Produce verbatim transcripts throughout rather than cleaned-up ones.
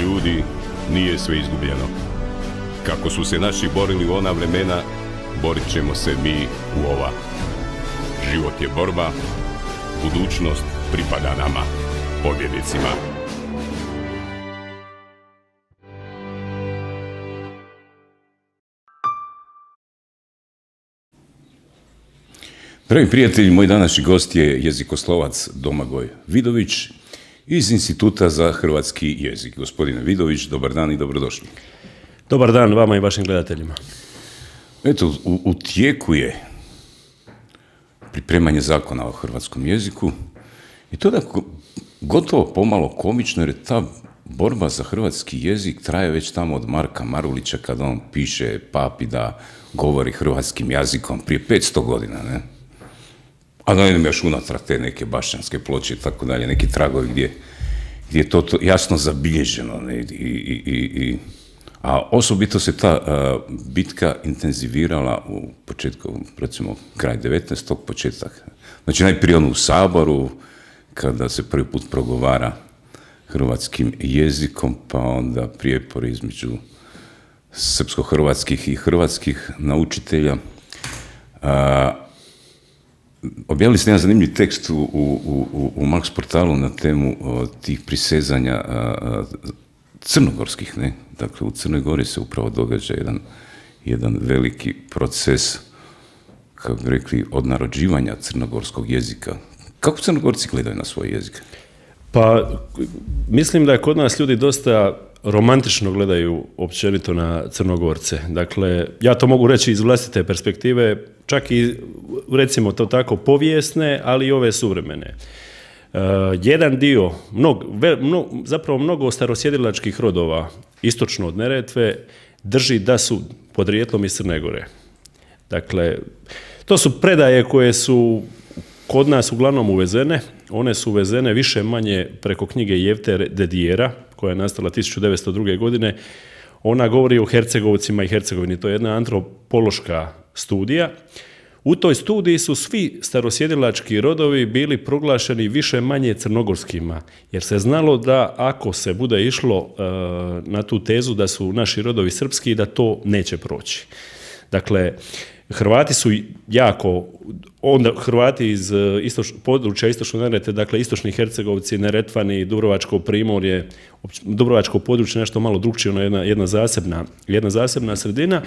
ljudi, nije sve izgubljeno. Kako su se naši borili u ona vremena, borit ćemo se mi u ova. Život je borba, budućnost pripada nama, pobjednicima. Dragi prijatelji, moj današnji gost je jezikoslovac Domagoj Vidović iz Instituta za hrvatski jezik. Gospodine Vidović, dobar dan i dobrodošli. Dobar dan vama i vašim gledateljima. Eto, u, u tijeku je pripremanje zakona o hrvatskom jeziku i to da gotovo pomalo komično, jer ta borba za hrvatski jezik traje već tamo od Marka Marulića kada on piše papi da govori hrvatskim jezikom prije petsto godina, ne? A da idem još unatrag te neke bašćanske ploče i tako dalje, neki tragovi gdje, gdje je to, to jasno zabilježeno. Ne? I, i, i, i, a osobito se ta a, bitka intenzivirala u početku, recimo, kraj devetnaestog početak. Znači, najprije ono u Saboru, kada se prvi put progovara hrvatskim jezikom, pa onda prijepor između srpsko-hrvatskih i hrvatskih naučitelja. A, Objavili ste jedan zanimljiv tekst u, u, u, u Marks portalu na temu o, tih prisezanja a, a, crnogorskih, ne? Dakle, u Crnoj Gori se upravo događa jedan, jedan veliki proces, kako bi rekli, odnarođivanja crnogorskog jezika. Kako Crnogorci gledaju na svoj jezik? Pa, mislim da je kod nas ljudi dosta romantično gledaju općenito na Crnogorce. Dakle, ja to mogu reći iz vlastite perspektive, čak i, recimo to tako, povijesne, ali i ove suvremene. Uh, jedan dio, mnog, ve, mno, zapravo mnogo starosjedilačkih rodova, istočno od Neretve, drži da su podrijetlom iz Crne Gore. Dakle, to su predaje koje su kod nas uglavnom uvezene. One su uvezene više manje preko knjige Jevte Dedijera, koja je nastala tisuću devetsto druge. godine. Ona govori o Hercegovcima i Hercegovini. To je jedna antropološka studija. U toj studiji su svi starosjedilački rodovi bili proglašeni više manje crnogorskima, jer se znalo da ako se bude išlo uh, na tu tezu da su naši rodovi srpski, da to neće proći. Dakle, Hrvati su jako, onda Hrvati iz istoč, područja istočnog Neretve, dakle istočni Hercegovci, Neretvani, Dubrovačko primorje, Dubrovačko područje, nešto malo drukčije, jedna, jedna, zasebna, jedna zasebna sredina. E,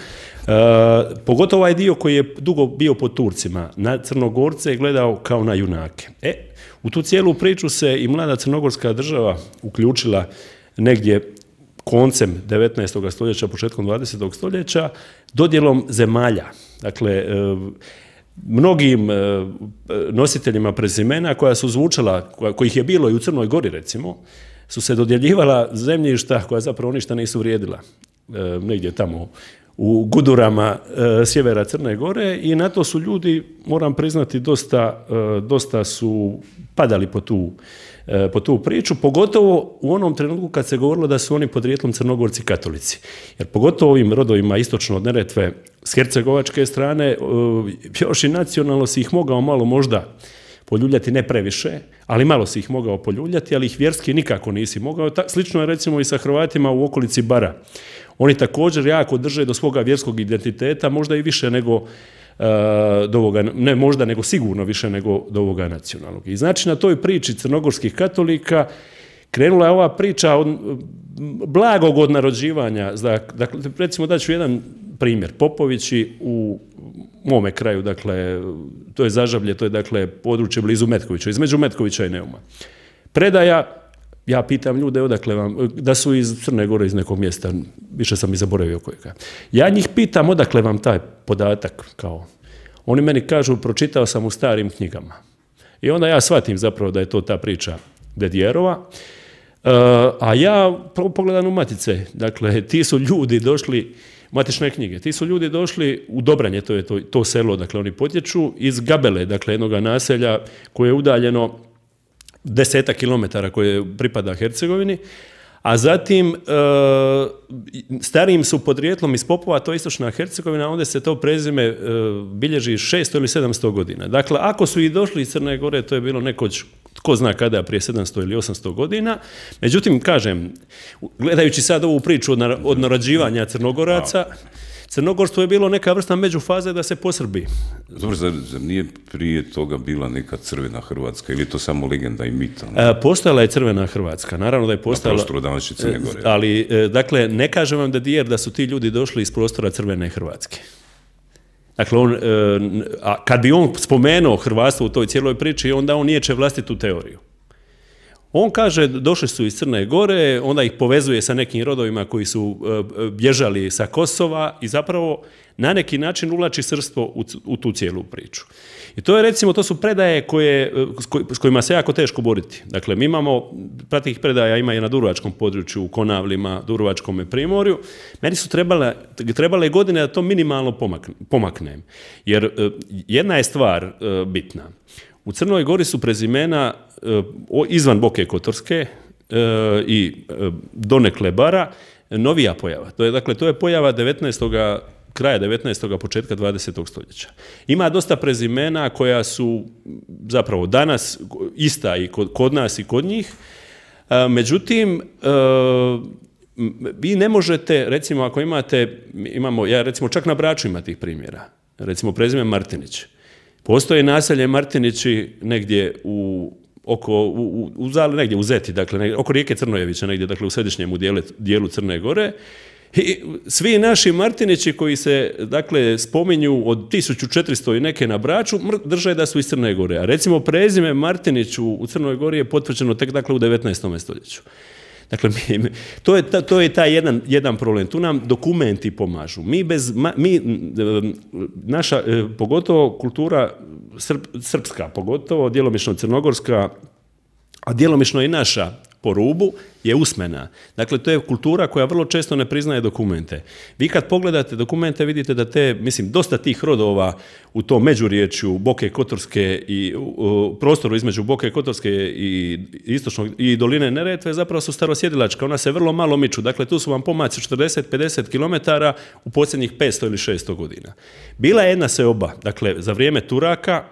pogotovo ovaj dio koji je dugo bio pod Turcima, na Crnogorce je gledao kao na junake. E, u tu cijelu priču se i mlada crnogorska država uključila negdje koncem devetnaestog stoljeća, početkom dvadesetog stoljeća, dodjelom zemalja. Dakle, mnogim nositeljima prezimena koja su zvučala, kojih je bilo i u Crnoj Gori, recimo, su se dodjeljivala zemljišta koja zapravo ništa nisu vrijedila. Negdje tamo u gudurama sjevera Crne Gore i na to su ljudi, moram priznati, dosta, dosta su padali po tu po tu priču, pogotovo u onom trenutku kad se govorilo da su oni podrijetlom Crnogorci katolici. Jer pogotovo ovim rodovima istočno od Neretve s hercegovačke strane, još i nacionalno si ih mogao malo možda poljuljati, ne previše, ali malo si ih mogao poljuljati, ali ih vjerski nikako nisi mogao. Slično je recimo i sa Hrvatima u okolici Bara. Oni također jako drže do svoga vjerskog identiteta, možda i više nego do ovoga, ne možda, nego sigurno više nego do ovoga nacionalnog. I znači na toj priči crnogorskih katolika krenula je ova priča od blagog odnarođivanja. Dakle, recimo daću jedan primjer. Popovići u mome kraju, dakle, to je Zažavlje, to je dakle područje blizu Metkovića, između Metkovića i Neuma. Predaja, ja pitam ljude odakle vam, da su iz Crne Gore, iz nekog mjesta, više sam i zaboravio kojega. Ja njih pitam odakle vam taj podatak, kao. Oni meni kažu, pročitao sam u starim knjigama. I onda ja shvatim zapravo da je to ta priča Dedijerova. Uh, a ja pogledam u matice, dakle, ti su ljudi došli, matične knjige, ti su ljudi došli u Dobranje, to je to, to selo, dakle, oni potječu iz Gabele, dakle, jednog naselja koje je udaljeno desetak kilometara koje pripada Hercegovini, a zatim e, starijim su podrijetlom iz Popova, to je istočna Hercegovina, onda se to prezime e, bilježi šesto ili sedamsto godina. Dakle, ako su i došli iz Crne Gore, to je bilo nekoć tko zna kada, prije sedamsto ili osamsto godina. Međutim, kažem, gledajući sad ovu priču od, nar- od narađivanja Crnogoraca, Crnogorstvo je bilo neka vrsta međufaze da se posrbi. Dobro, zar, zar nije prije toga bila neka crvena Hrvatska ili je to samo legenda i mit? E, postojala je crvena Hrvatska, naravno da je postojala... Na prostoru današnje Crne Gore. Ali, e, dakle, ne kažem vam da Dijer da su ti ljudi došli iz prostora crvene Hrvatske. Dakle, on, e, a kad bi on spomenuo hrvatstvo u toj cijeloj priči, onda on niječe vlastitu teoriju. On kaže, došli su iz Crne Gore, onda ih povezuje sa nekim rodovima koji su e, bježali sa Kosova i zapravo na neki način uvlači srpstvo u, u tu cijelu priču. I to je, recimo, to su predaje koje, s, koj, s kojima se jako teško boriti. Dakle, mi imamo, pratih predaja ima i na Dubrovačkom području, u Konavlima, Dubrovačkom primorju. Meni su trebale, trebale godine da to minimalno pomakne, pomaknem. Jer e, jedna je stvar e, bitna. U Crnoj Gori su prezimena e, izvan Boke Kotorske e, i e, donekle Bara novija pojava. To je, dakle, to je pojava devetnaestog kraja devetnaestog početka dvadesetog stoljeća. Ima dosta prezimena koja su zapravo danas ista i kod, kod nas i kod njih. E, međutim, e, vi ne možete, recimo, ako imate, imamo, ja recimo čak na Braču ima tih primjera, recimo prezime Martinić. Postoje naselje Martinići negdje u oko u, u, u Zali, negdje u Zeti, dakle negdje, oko rijeke Crnojevića, negdje dakle u središnjem dijelu, dijelu Crne Gore. I svi naši Martinići koji se dakle spominju od tisuću četiristo i neke na Braču drže da su iz Crne Gore. A recimo prezime Martinić u, u Crnoj Gori je potvrđeno tek dakle u devetnaestom stoljeću. Dakle, mi, to je, to je taj jedan, jedan problem. Tu nam dokumenti pomažu. Mi bez, mi, naša, pogotovo kultura srp, srpska, pogotovo djelomično crnogorska, a djelomično i naša po rubu, je usmena. Dakle, to je kultura koja vrlo često ne priznaje dokumente. Vi kad pogledate dokumente vidite da te, mislim, dosta tih rodova u tom međuriječju Boke Kotorske i u prostoru između Boke Kotorske i istočnog i doline Neretve zapravo su starosjedilačka. Ona se vrlo malo miču. Dakle, tu su vam pomaci četrdeset do pedeset kilometara u posljednjih petsto ili šesto godina. Bila je jedna seoba, dakle, za vrijeme Turaka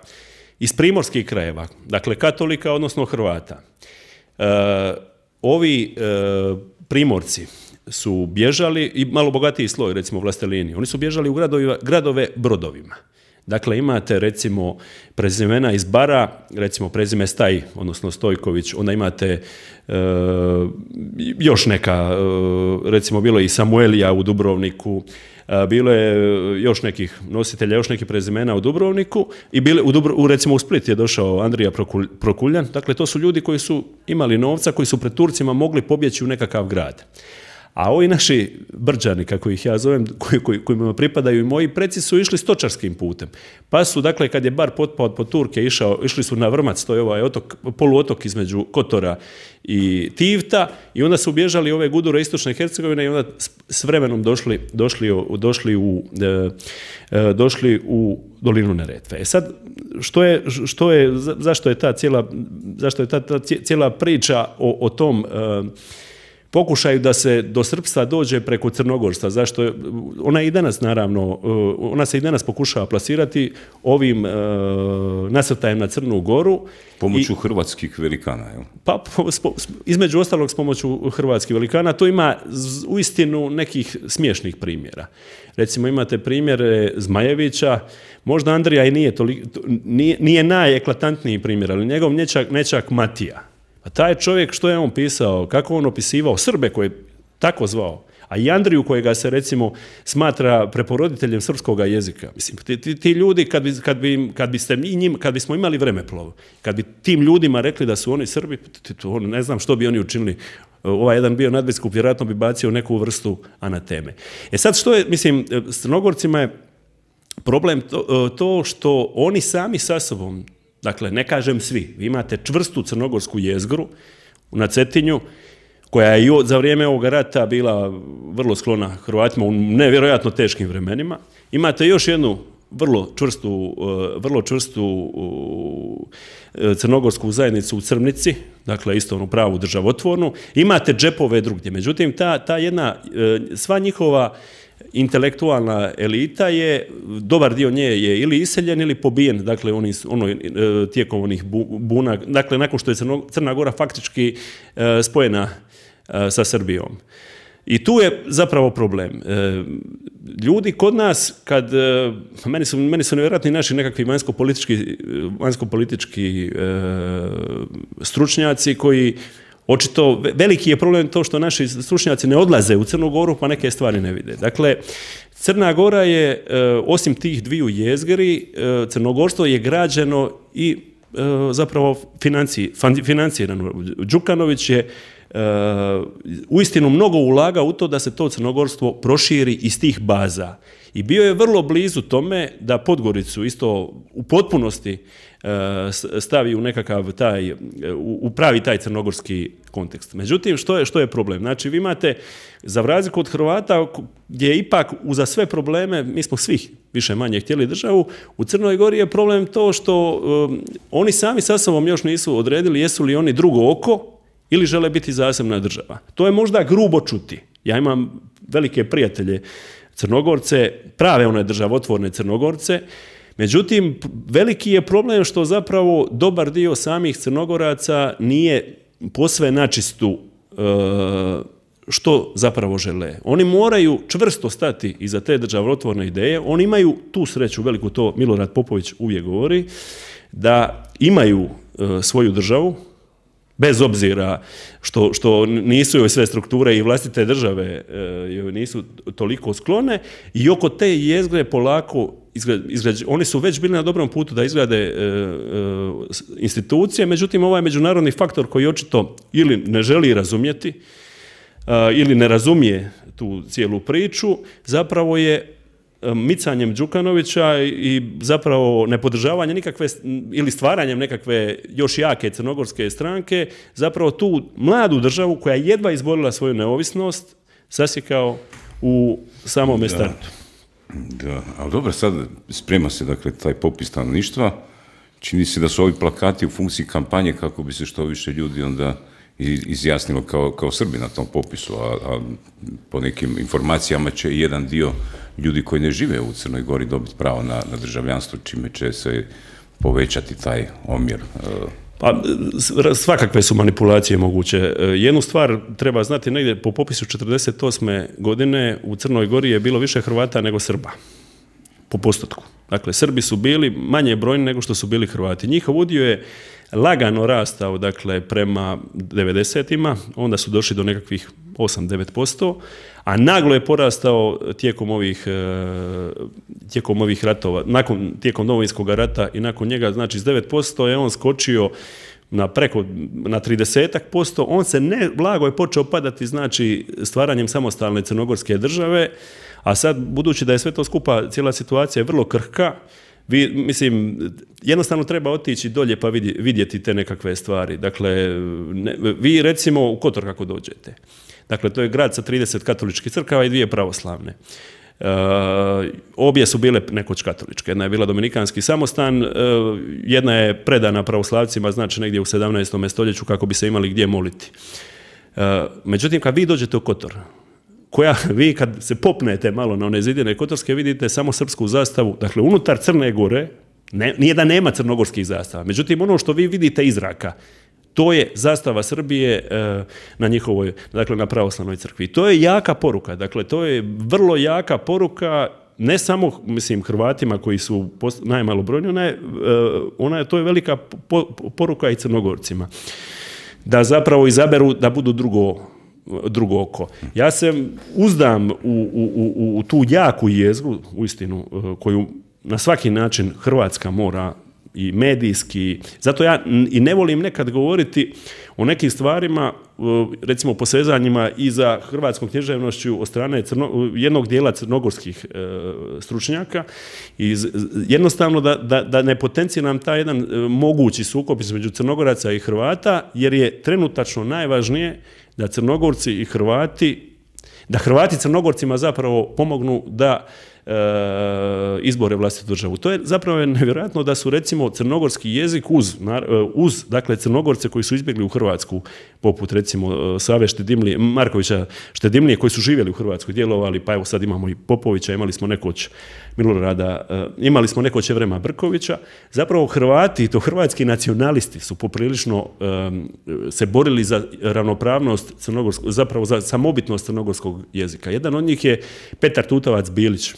iz primorskih krajeva, dakle, katolika, odnosno Hrvata. E, ovi e, primorci su bježali, i malo bogatiji sloj, recimo vlastelini, oni su bježali u gradovi, gradove brodovima. Dakle, imate recimo prezimena iz Bara, recimo prezime Staj, odnosno Stojković, onda imate e, još neka, e, recimo bilo je i Samuelija u Dubrovniku, e, bilo je još nekih nositelja, još nekih prezimena u Dubrovniku i bile, u, Dubro, u recimo u Split je došao Andrija Prokulj, Prokuljan, dakle to su ljudi koji su imali novca, koji su pred Turcima mogli pobjeći u nekakav grad. A ovi naši Brđani, kako ih ja zovem, koji, koji, kojima pripadaju i moji preci, su išli stočarskim putem. Pa su, dakle, kad je Bar potpao pod Turke, išao, išli su na Vrmac, to je ovaj otok, poluotok između Kotora i Tivta, i onda su bježali ove gudure istočne Hercegovine i onda s vremenom došli, došli, došli, u, došli u dolinu Neretve. E sad, što je, što je, zašto je ta cijela, zašto je ta, ta cijela priča o, o tom pokušaju da se do srpstva dođe preko crnogorstva? Zašto je, ona i danas naravno, ona se i danas pokušava plasirati ovim uh, nasrtajem na Crnu Goru. Pomoću i, hrvatskih velikana, jel? Pa, spo, između ostalog s pomoću hrvatskih velikana. To ima uistinu nekih smiješnih primjera. Recimo imate primjere Zmajevića, možda Andrija i nije, toliko, nije, nije najeklatantniji primjer, ali njegov nečak, nečak Matija. A taj čovjek, što je on pisao, kako on opisivao Srbe koje je tako zvao, a i Andriju kojega se recimo smatra preporoditeljem srpskog jezika. Mislim, ti, ti, ti ljudi, kad, bi, kad, bi, kad, biste njim, kad bismo imali vremeplov, kad bi tim ljudima rekli da su oni Srbi, to, ne znam što bi oni učinili. Ovaj jedan bio nadbiskup, vjerojatno bi bacio neku vrstu anateme. E sad, što je, mislim, s Crnogorcima je problem to, to što oni sami sa sobom, dakle, ne kažem svi, vi imate čvrstu crnogorsku jezgru na Cetinju, koja je i za vrijeme ovog rata bila vrlo sklona Hrvatima u nevjerojatno teškim vremenima. Imate još jednu vrlo čvrstu, vrlo čvrstu crnogorsku zajednicu u Crnici, dakle isto onu pravu državotvornu. Imate džepove drugdje. Međutim, ta, ta jedna, sva njihova intelektualna elita je, dobar dio nje je ili iseljen ili pobijen, dakle oni, ono, tijekom onih buna, dakle nakon što je Crna Gora faktički spojena sa Srbijom. I tu je zapravo problem. Ljudi kod nas, kad, meni su, meni su nevjerojatni naši nekakvi vanjsko-politički, vanjsko-politički stručnjaci koji očito, veliki je problem to što naši stručnjaci ne odlaze u Crnu Goru pa neke stvari ne vide. Dakle, Crna Gora je, osim tih dviju jezgri, crnogorstvo je građeno i zapravo financirano. Đukanović je uistinu mnogo ulaga u to da se to crnogorstvo proširi iz tih baza. I bio je vrlo blizu tome da Podgoricu isto u potpunosti stavi u nekakav taj, u pravi taj crnogorski kontekst. Međutim, što je, što je problem? Znači, vi imate, za razliku od Hrvata, gdje je ipak uza sve probleme, mi smo svih više manje htjeli državu, u Crnoj Gori je problem to što um, oni sami sa sobom još nisu odredili jesu li oni drugo oko ili žele biti zasebna država. To je možda grubo čuti. Ja imam velike prijatelje Crnogorce, prave one državotvorne Crnogorce, međutim, veliki je problem što zapravo dobar dio samih Crnogoraca nije posve načistu što zapravo žele. Oni moraju čvrsto stati iza te državotvorne ideje, oni imaju tu sreću, veliku, to Milorad Popović uvijek govori, da imaju svoju državu, bez obzira što, što nisu joj sve strukture i vlastite države joj nisu toliko sklone, i oko te jezgre polako izgrađe, oni su već bili na dobrom putu da izgrade e, e, institucije, međutim ovaj međunarodni faktor koji očito ili ne želi razumjeti a, ili ne razumije tu cijelu priču, zapravo je micanjem Đukanovića i zapravo nepodržavanje nikakve ili stvaranjem nekakve još jake crnogorske stranke, zapravo tu mladu državu koja je jedva izborila svoju neovisnost sasjekao u samome startu. Da, ali dobro, sad sprema se dakle taj popis stanovništva, čini se da su ovi plakati u funkciji kampanje kako bi se što više ljudi onda izjasnilo kao, kao Srbi na tom popisu, a, a po nekim informacijama će i jedan dio ljudi koji ne žive u Crnoj Gori dobiti pravo na, na državljanstvo, čime će se povećati taj omjer. Pa, svakakve su manipulacije moguće. Jednu stvar treba znati, negdje po popisu četrdeset osme godine u Crnoj Gori je bilo više Hrvata nego Srba, po postotku. Dakle, Srbi su bili manje brojni nego što su bili Hrvati. Njihov udio je lagano rastao, dakle, prema devedesetima, onda su došli do nekakvih osam do devet posto, a naglo je porastao tijekom ovih, tijekom ovih ratova, nakon, tijekom Domovinskog rata i nakon njega, znači s devet posto je on skočio na preko, na trideset posto, on se ne, blago je počeo padati, znači, stvaranjem samostalne crnogorske države, a sad, budući da je sve to skupa, cijela situacija je vrlo krhka, vi, mislim, jednostavno treba otići dolje pa vidjeti te nekakve stvari. Dakle, ne, vi recimo u Kotor kako dođete. Dakle, to je grad sa trideset katoličkih crkava i dvije pravoslavne. Uh, obje su bile nekoć katoličke. Jedna je bila dominikanski samostan, uh, jedna je predana pravoslavcima, znači negdje u sedamnaestom stoljeću kako bi se imali gdje moliti. Uh, međutim, kad vi dođete u Kotor, koja vi kad se popnete malo na one zidine kotorske vidite samo srpsku zastavu, dakle unutar Crne Gore, ne, nije da nema crnogorskih zastava, međutim ono što vi vidite iz zraka, to je zastava Srbije e, na njihovoj, dakle na pravoslavnoj crkvi. To je jaka poruka, dakle to je vrlo jaka poruka ne samo, mislim, Hrvatima koji su najmalobrojniji, ona je, e, ona je, to je velika po, poruka i Crnogorcima. Da zapravo izaberu da budu drugo drugo oko. Ja se uzdam u, u, u, u tu jaku jezgru, uistinu, koju na svaki način Hrvatska mora i medijski, zato ja i ne volim nekad govoriti o nekim stvarima, recimo posezanjima i za hrvatskom književnošću od strane crno, jednog dijela crnogorskih e, stručnjaka i jednostavno da, da, da ne potenciram taj jedan e, mogući sukob između Crnogoraca i Hrvata, jer je trenutačno najvažnije da Crnogorci i Hrvati, da Hrvati Crnogorcima zapravo pomognu da izbore vlastitu državu. To je zapravo nevjerojatno da su recimo crnogorski jezik uz, uz dakle Crnogorce koji su izbjegli u Hrvatsku, poput recimo Save Štedimlije, Markovića Štedimlije koji su živjeli u Hrvatskoj, djelovali, pa evo sad imamo i Popovića, imali smo nekoć Milorada, imali smo nekoć Evrema Brkovića. Zapravo Hrvati, to hrvatski nacionalisti su poprilično um, se borili za ravnopravnost crnogorskog, zapravo za samobitnost crnogorskog jezika. Jedan od njih je Petar Tutovac Bilić.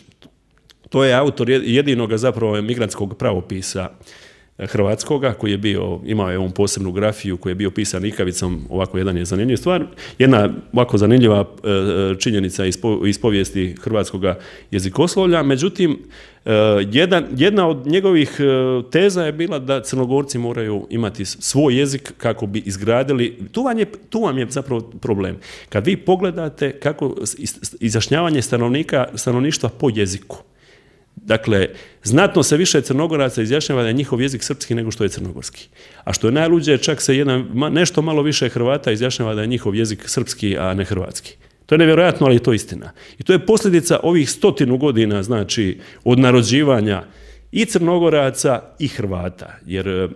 To je autor jedinoga zapravo migrantskog pravopisa hrvatskoga, koji je bio, imao je ovom posebnu grafiju, koji je bio pisan ikavicom, ovako jedan je zanimljiv stvar. Jedna ovako zanimljiva činjenica iz povijesti hrvatskoga jezikoslovlja, međutim, jedan, jedna od njegovih teza je bila da Crnogorci moraju imati svoj jezik kako bi izgradili, tu vam je, tu vam je zapravo problem. Kad vi pogledate kako izjašnjavanje stanovnika, stanovništva po jeziku, dakle, znatno se više Crnogoraca izjašnjava da je njihov jezik srpski nego što je crnogorski. A što je najluđe, čak se jedan, nešto malo više Hrvata izjašnjava da je njihov jezik srpski, a ne hrvatski. To je nevjerojatno, ali je to istina. I to je posljedica ovih stotinu godina, znači, od narođivanja i Crnogoraca i Hrvata. Jer e,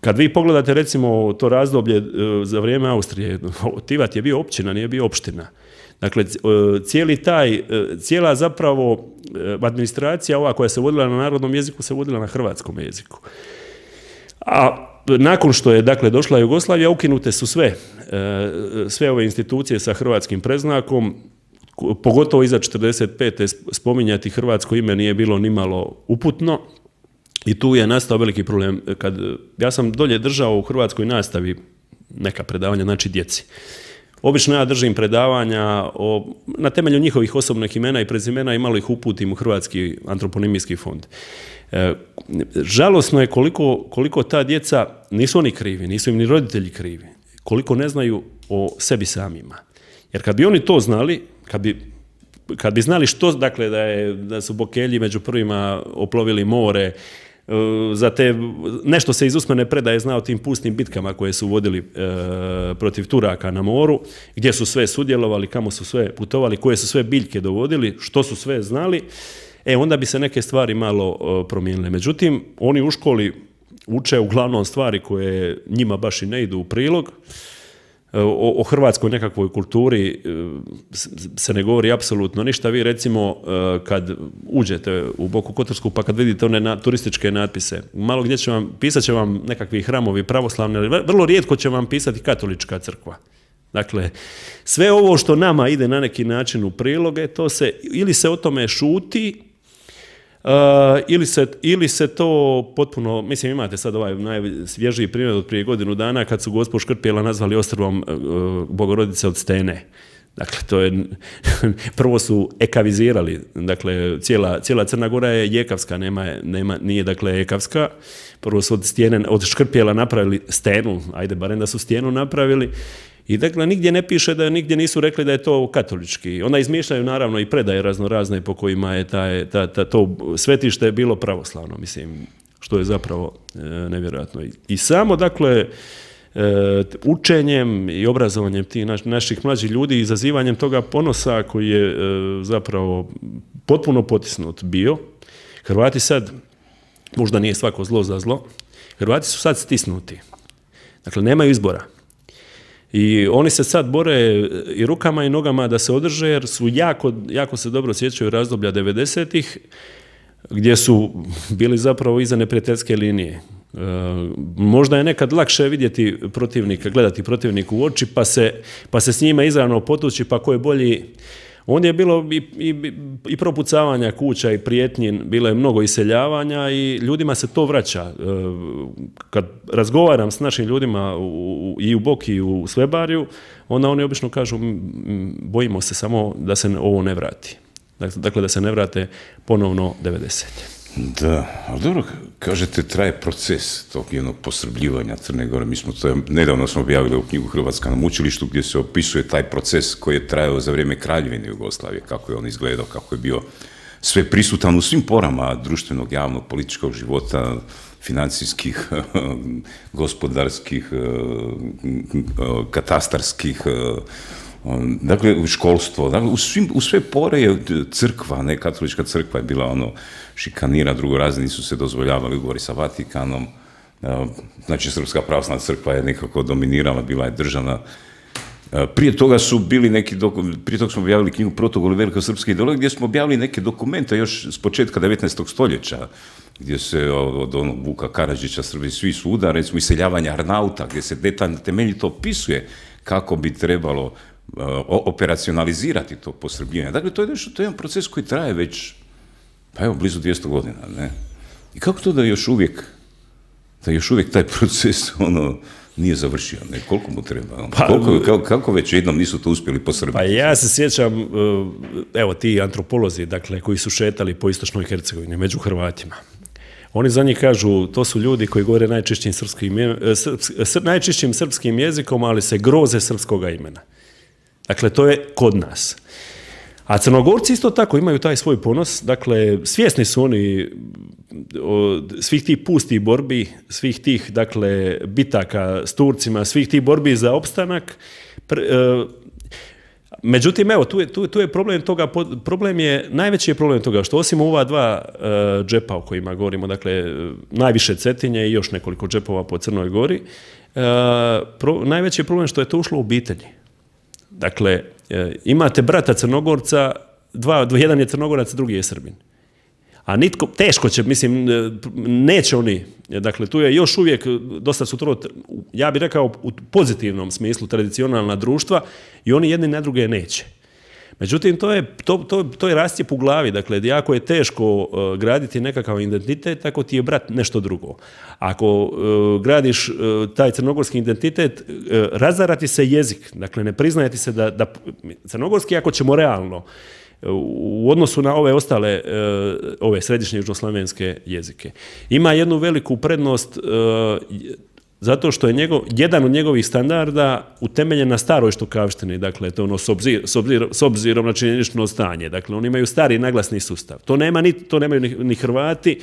kad vi pogledate, recimo, to razdoblje e, za vrijeme Austrije, Tivat je bio općina, nije bio opština. Dakle, cijeli taj, cijela zapravo administracija ova koja se vodila na narodnom jeziku se vodila na hrvatskom jeziku. A nakon što je, dakle, došla Jugoslavija, ukinute su sve, sve ove institucije sa hrvatskim predznakom, pogotovo iza četrdeset pete spominjati hrvatsko ime nije bilo nimalo uputno i tu je nastao veliki problem. Kad, ja sam dolje držao u hrvatskoj nastavi neka predavanja, znači djeci. Obično ja držim predavanja o, na temelju njihovih osobnih imena i prezimena i malo ih uputim u Hrvatski antroponimijski fond. E, žalosno je koliko, koliko ta djeca, nisu oni krivi, nisu im ni roditelji krivi, koliko ne znaju o sebi samima. Jer kad bi oni to znali, kad bi, kad bi znali što, dakle, da, je, da su Bokelji među prvima oplovili more, za te, nešto se iz usmene predaje zna o tim pustim bitkama koje su vodili e, protiv Turaka na moru, gdje su sve sudjelovali, kamo su sve putovali, koje su sve biljke dovodili, što su sve znali, e onda bi se neke stvari malo e, promijenile. Međutim, oni u školi uče uglavnom stvari koje njima baš i ne idu u prilog. O, o hrvatskoj nekakvoj kulturi se ne govori apsolutno ništa. Vi recimo kad uđete u Boku Kotorsku pa kad vidite one na, turističke natpise, malo gdje će vam, pisat će vam nekakvi hramovi pravoslavni, ali vrlo rijetko će vam pisati katolička crkva. Dakle, sve ovo što nama ide na neki način u priloge, to se, ili se o tome šuti, Uh, ili, se, ili se to potpuno, mislim imate sad ovaj najsvježiji primjer od prije godinu dana kad su gospođu Škrpjela nazvali ostrvom uh, Bogorodice od Stene. Dakle, to je, prvo su ekavizirali, dakle, cijela, cijela Crna Gora je jekavska, nema, nema, nije dakle ekavska. Prvo su od, stijene, od Škrpjela napravili stenu, ajde barem da su stijenu napravili. I dakle, nigdje ne piše da nigdje nisu rekli da je to katolički. Onda izmišljaju naravno i predaje razno razne po kojima je taj, ta, ta, to svetište bilo pravoslavno, mislim, što je zapravo e, nevjerojatno. I, I samo, dakle, e, učenjem i obrazovanjem tih naš, naših mlađih ljudi, izazivanjem toga ponosa koji je e, zapravo potpuno potisnut bio, Hrvati sad, možda nije svako zlo za zlo, Hrvati su sad stisnuti. Dakle, nemaju izbora. I oni se sad bore i rukama i nogama da se održe, jer su jako, jako se dobro sjećaju razdoblja devedesetih, gdje su bili zapravo iza neprijateljske linije. E, možda je nekad lakše vidjeti protivnika, gledati protivniku u oči, pa se, pa se s njima izravno potući, pa ko je bolji. Onda je bilo i, i, i propucavanja kuća i prijetnji, bilo je mnogo iseljavanja i ljudima se to vraća. Kad razgovaram s našim ljudima u, i u Boki i u Svebarju, onda oni obično kažu bojimo se samo da se ovo ne vrati. Dakle, da se ne vrate ponovno devedesete. Da, ali dobro, kažete, traje proces tog jednog posrbljivanja Crne Gore. Mi smo to, nedavno smo objavili u knjigu Hrvatska na mučilištu gdje se opisuje taj proces koji je trajao za vrijeme Kraljevine Jugoslavije, kako je on izgledao, kako je bio sve prisutan u svim porama društvenog, javnog, političkog života, financijskih, gospodarskih, katastarskih, dakle, školstvo, dakle, u, svim, u sve pore je crkva, ne, katolička crkva je bila ono šikanira, drugorazni su se dozvoljavali ugovori sa Vatikanom, znači Srpska pravoslavna crkva je nekako dominirala, bila je državna. Prije toga su bili neki, prije toga smo objavili knjigu Protokol velikosrpske ideologije, gdje smo objavili neke dokumente još s početka devetnaestog stoljeća, gdje se od onog Vuka Karadžića Srbi svi svuda, recimo iseljavanja Arnauta, gdje se detaljno temeljito opisuje kako bi trebalo uh, operacionalizirati to posrbljivanje. Dakle, to je nešto, to je jedan proces koji traje već, pa evo, blizu dvjesto godina, ne? I kako to da još uvijek, da još uvijek taj proces, ono, nije završio, ne? Koliko mu treba? Ono? Pa, Koliko, kako, kako već jednom nisu to uspjeli posrbiti? Pa ja se sjećam, evo, ti antropolozi, dakle, koji su šetali po istočnoj Hercegovini, među Hrvatima. Oni za njih kažu, to su ljudi koji govore najčišćim srpskim, srp, najčišćim srpskim jezikom, ali se groze srpskoga imena. Dakle, to je kod nas. A Crnogorci isto tako imaju taj svoj ponos, dakle, svjesni su oni od svih tih pustih borbi, svih tih, dakle, bitaka s Turcima, svih tih borbi za opstanak. Pre, e, međutim, evo, tu je, tu, tu je problem toga, problem je, najveći je problem toga što osim ova dva e, džepa o kojima govorimo, dakle, najviše Cetinje i još nekoliko džepova po Crnoj Gori, e, pro, najveći je problem što je to ušlo u obitelji. Dakle, e, imate brata Crnogorca, dva, jedan je Crnogorac, drugi je Srbin. A nitko, teško će, mislim, neće oni, dakle, tu je još uvijek, dosta su to, ja bih rekao, u pozitivnom smislu tradicionalna društva i oni jedni na druge neće. Međutim, to je, to, to, to je rastjep u glavi, dakle, jako je teško uh, graditi nekakav identitet, ako ti je brat nešto drugo. Ako uh, gradiš uh, taj crnogorski identitet, uh, razarati se jezik, dakle, ne priznajeti se da, da crnogorski, ako ćemo realno, u odnosu na ove ostale, ove središnje južnoslavenske jezike. Ima jednu veliku prednost zato što je njegov, jedan od njegovih standarda utemeljen na staroj štokavštini, dakle, to je ono s, obzir, s, obzir, s obzirom na činjenično stanje. Dakle, oni imaju stari naglasni sustav. To, nema ni, to nemaju ni, ni Hrvati,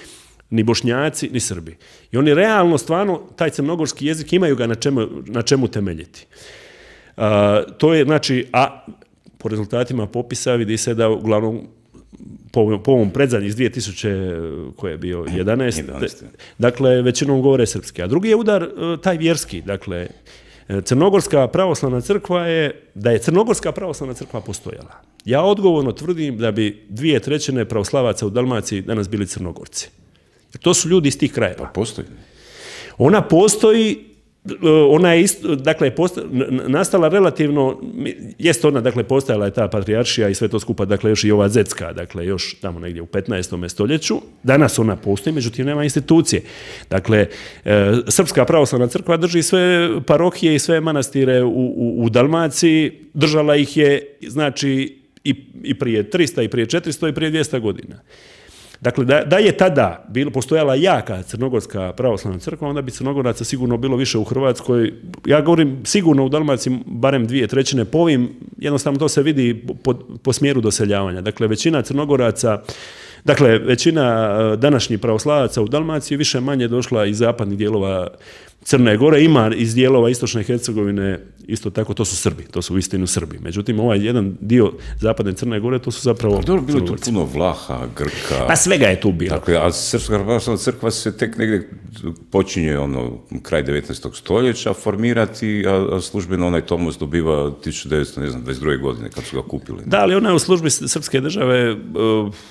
ni Bošnjaci, ni Srbi. I oni realno, stvarno, taj crnogorski jezik imaju ga na čemu, na čemu temeljiti. Uh, to je, znači, a po rezultatima popisa vidi se da uglavnom po, po ovom predzadnji iz dvije tisuće koje je bio jedanaeste. Dakle, većinom govore srpski. A drugi je udar taj vjerski. Dakle, Crnogorska pravoslavna crkva je, da je Crnogorska pravoslavna crkva postojala. Ja odgovorno tvrdim da bi dvije trećine pravoslavaca u Dalmaciji danas bili Crnogorci. To su ljudi iz tih krajeva. Pa postoji. Ona postoji. Ona je isto, dakle, posta, nastala relativno, jest ona, dakle, postojala je ta patrijaršija i sve to skupa, dakle, još i ova zetska, dakle, još tamo negdje u petnaestom stoljeću. Danas ona postoji, međutim, nema institucije. Dakle, e, Srpska pravoslavna crkva drži sve parohije i sve manastire u, u, u Dalmaciji, držala ih je, znači, i, i prije tristo, i prije četiristo, i prije dvjesto godina. Dakle, da, da je tada bilo, postojala jaka Crnogorska pravoslavna crkva, onda bi Crnogoraca sigurno bilo više u Hrvatskoj. Ja govorim sigurno u Dalmaciji barem dvije trećine, po ovim, jednostavno to se vidi po, po smjeru doseljavanja. Dakle, većina Crnogoraca, dakle, većina današnjih pravoslavaca u Dalmaciji više manje došla iz zapadnih dijelova Crne Gore, ima iz dijelova istočne Hercegovine, isto tako, to su Srbi, to su uistinu Srbi. Međutim, ovaj jedan dio zapadne Crne Gore, to su zapravo Ali dobro, bilo tu puno Vlaha, Grka. Pa svega je tu bilo. Dakle, a Srpska pravoslavna crkva se tek negdje počinje, ono, kraj devetnaestog stoljeća formirati, a, a službeno onaj tomos dobiva tisuću devetsto dvadeset druge godine, kad su ga kupili. Da, ali ona je u službi Srpske države uh,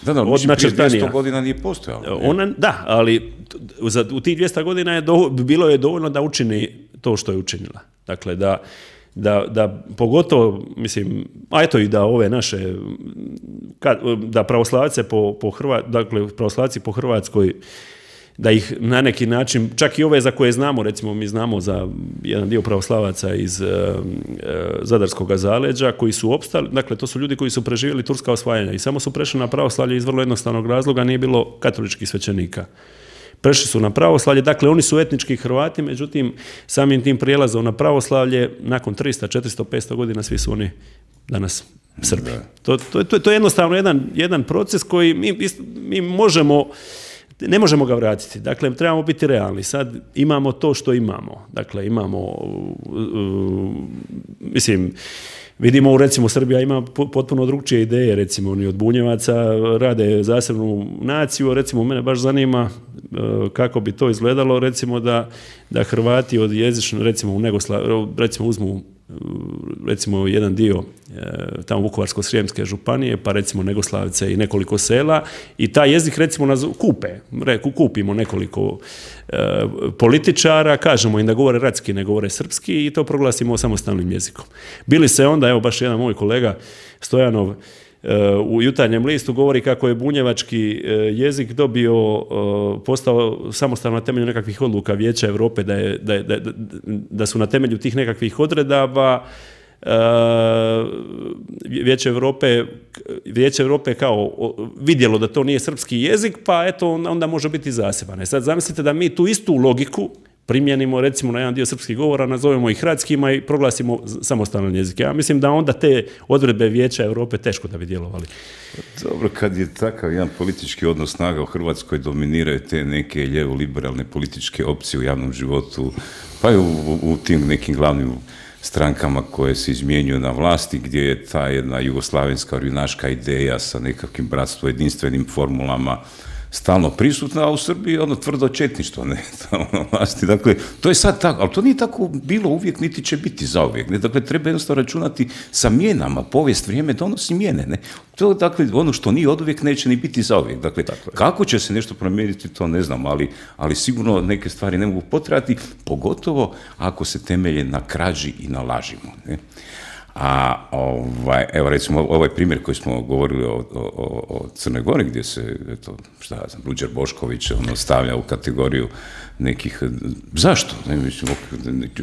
da, da, od načrtanija. dvjesto godina nije postojala. Ona, da, ali za, u tih dvjesto godina je do, bilo je dovoljno da učini to što je učinila. Dakle, da, da, da pogotovo, mislim, a eto i da ove naše, da pravoslavce po, po Hrvatskoj, dakle, pravoslavci po Hrvatskoj, da ih na neki način, čak i ove za koje znamo, recimo mi znamo za jedan dio pravoslavaca iz uh, Zadarskog zaleđa koji su opstali, dakle to su ljudi koji su preživjeli turska osvajanja i samo su prešli na pravoslavlje iz vrlo jednostavnog razloga, nije bilo katoličkih svećenika. Prešli su na pravoslavlje, dakle oni su etnički Hrvati, međutim samim tim prijelazom na pravoslavlje nakon tristo, četiristo, petsto godina svi su oni danas Srbi. To, to, to, to je jednostavno jedan, jedan proces koji mi, mi možemo ne možemo ga vratiti. Dakle, trebamo biti realni. Sad imamo to što imamo. Dakle, imamo, uh, uh, mislim, vidimo, recimo, Srbija ima potpuno drugčije ideje, recimo, oni od Bunjevaca rade zasebnu naciju, recimo, mene baš zanima kako bi to izgledalo, recimo, da, da Hrvati od jezično, recimo, u Negoslav, recimo, uzmu recimo jedan dio tamo Vukovarsko-srijemske županije, pa recimo Negoslavice i nekoliko sela i taj jezik recimo nas kupe, kupimo nekoliko e, političara, kažemo im da govore ratski, ne govore srpski i to proglasimo samostalnim jezikom. Bili se onda, evo baš jedan moj kolega Stojanov u Jutarnjem listu govori kako je bunjevački jezik dobio, postao samostalno na temelju nekakvih odluka Vijeća Europe, da, je, da, je, da, da su na temelju tih nekakvih odredaba Vijeće Europe, Vijeće Europe kao vidjelo da to nije srpski jezik, pa eto onda može biti zaseban. Sad zamislite da mi tu istu logiku primjenimo recimo na jedan dio srpskih govora, nazovemo ih hradskima i proglasimo samostalne jezike. Ja mislim da onda te odredbe Vijeća Europe teško da bi djelovali. Dobro, kad je takav jedan politički odnos snaga u Hrvatskoj, dominiraju te neke lijevo-liberalne političke opcije u javnom životu, pa i u, u tim nekim glavnim strankama koje se izmjenjuju na vlasti, gdje je ta jedna jugoslavenska orjunaška ideja sa nekakvim bratstvo jedinstvenim formulama stalno prisutna, a u Srbiji ono tvrdo četništvo, ne, tamo na vlasti. Dakle, to je sad tako, ali to nije tako bilo uvijek, niti će biti zauvijek, ne, dakle, treba jednostavno računati sa mijenama, povijest, vrijeme donosi mijene, ne, to, dakle, ono što nije oduvijek neće ni biti zauvijek, dakle, kako će se nešto promijeniti, to ne znam, ali, ali sigurno neke stvari ne mogu potrajati, pogotovo ako se temelje na krađi i na lažima, ne. A ovaj, evo recimo ovaj primjer koji smo govorili o, o, o Crnoj Gori, gdje se, eto, šta ja znam, Ruđer Bošković ono, stavlja u kategoriju nekih, zašto? Ne, mislim,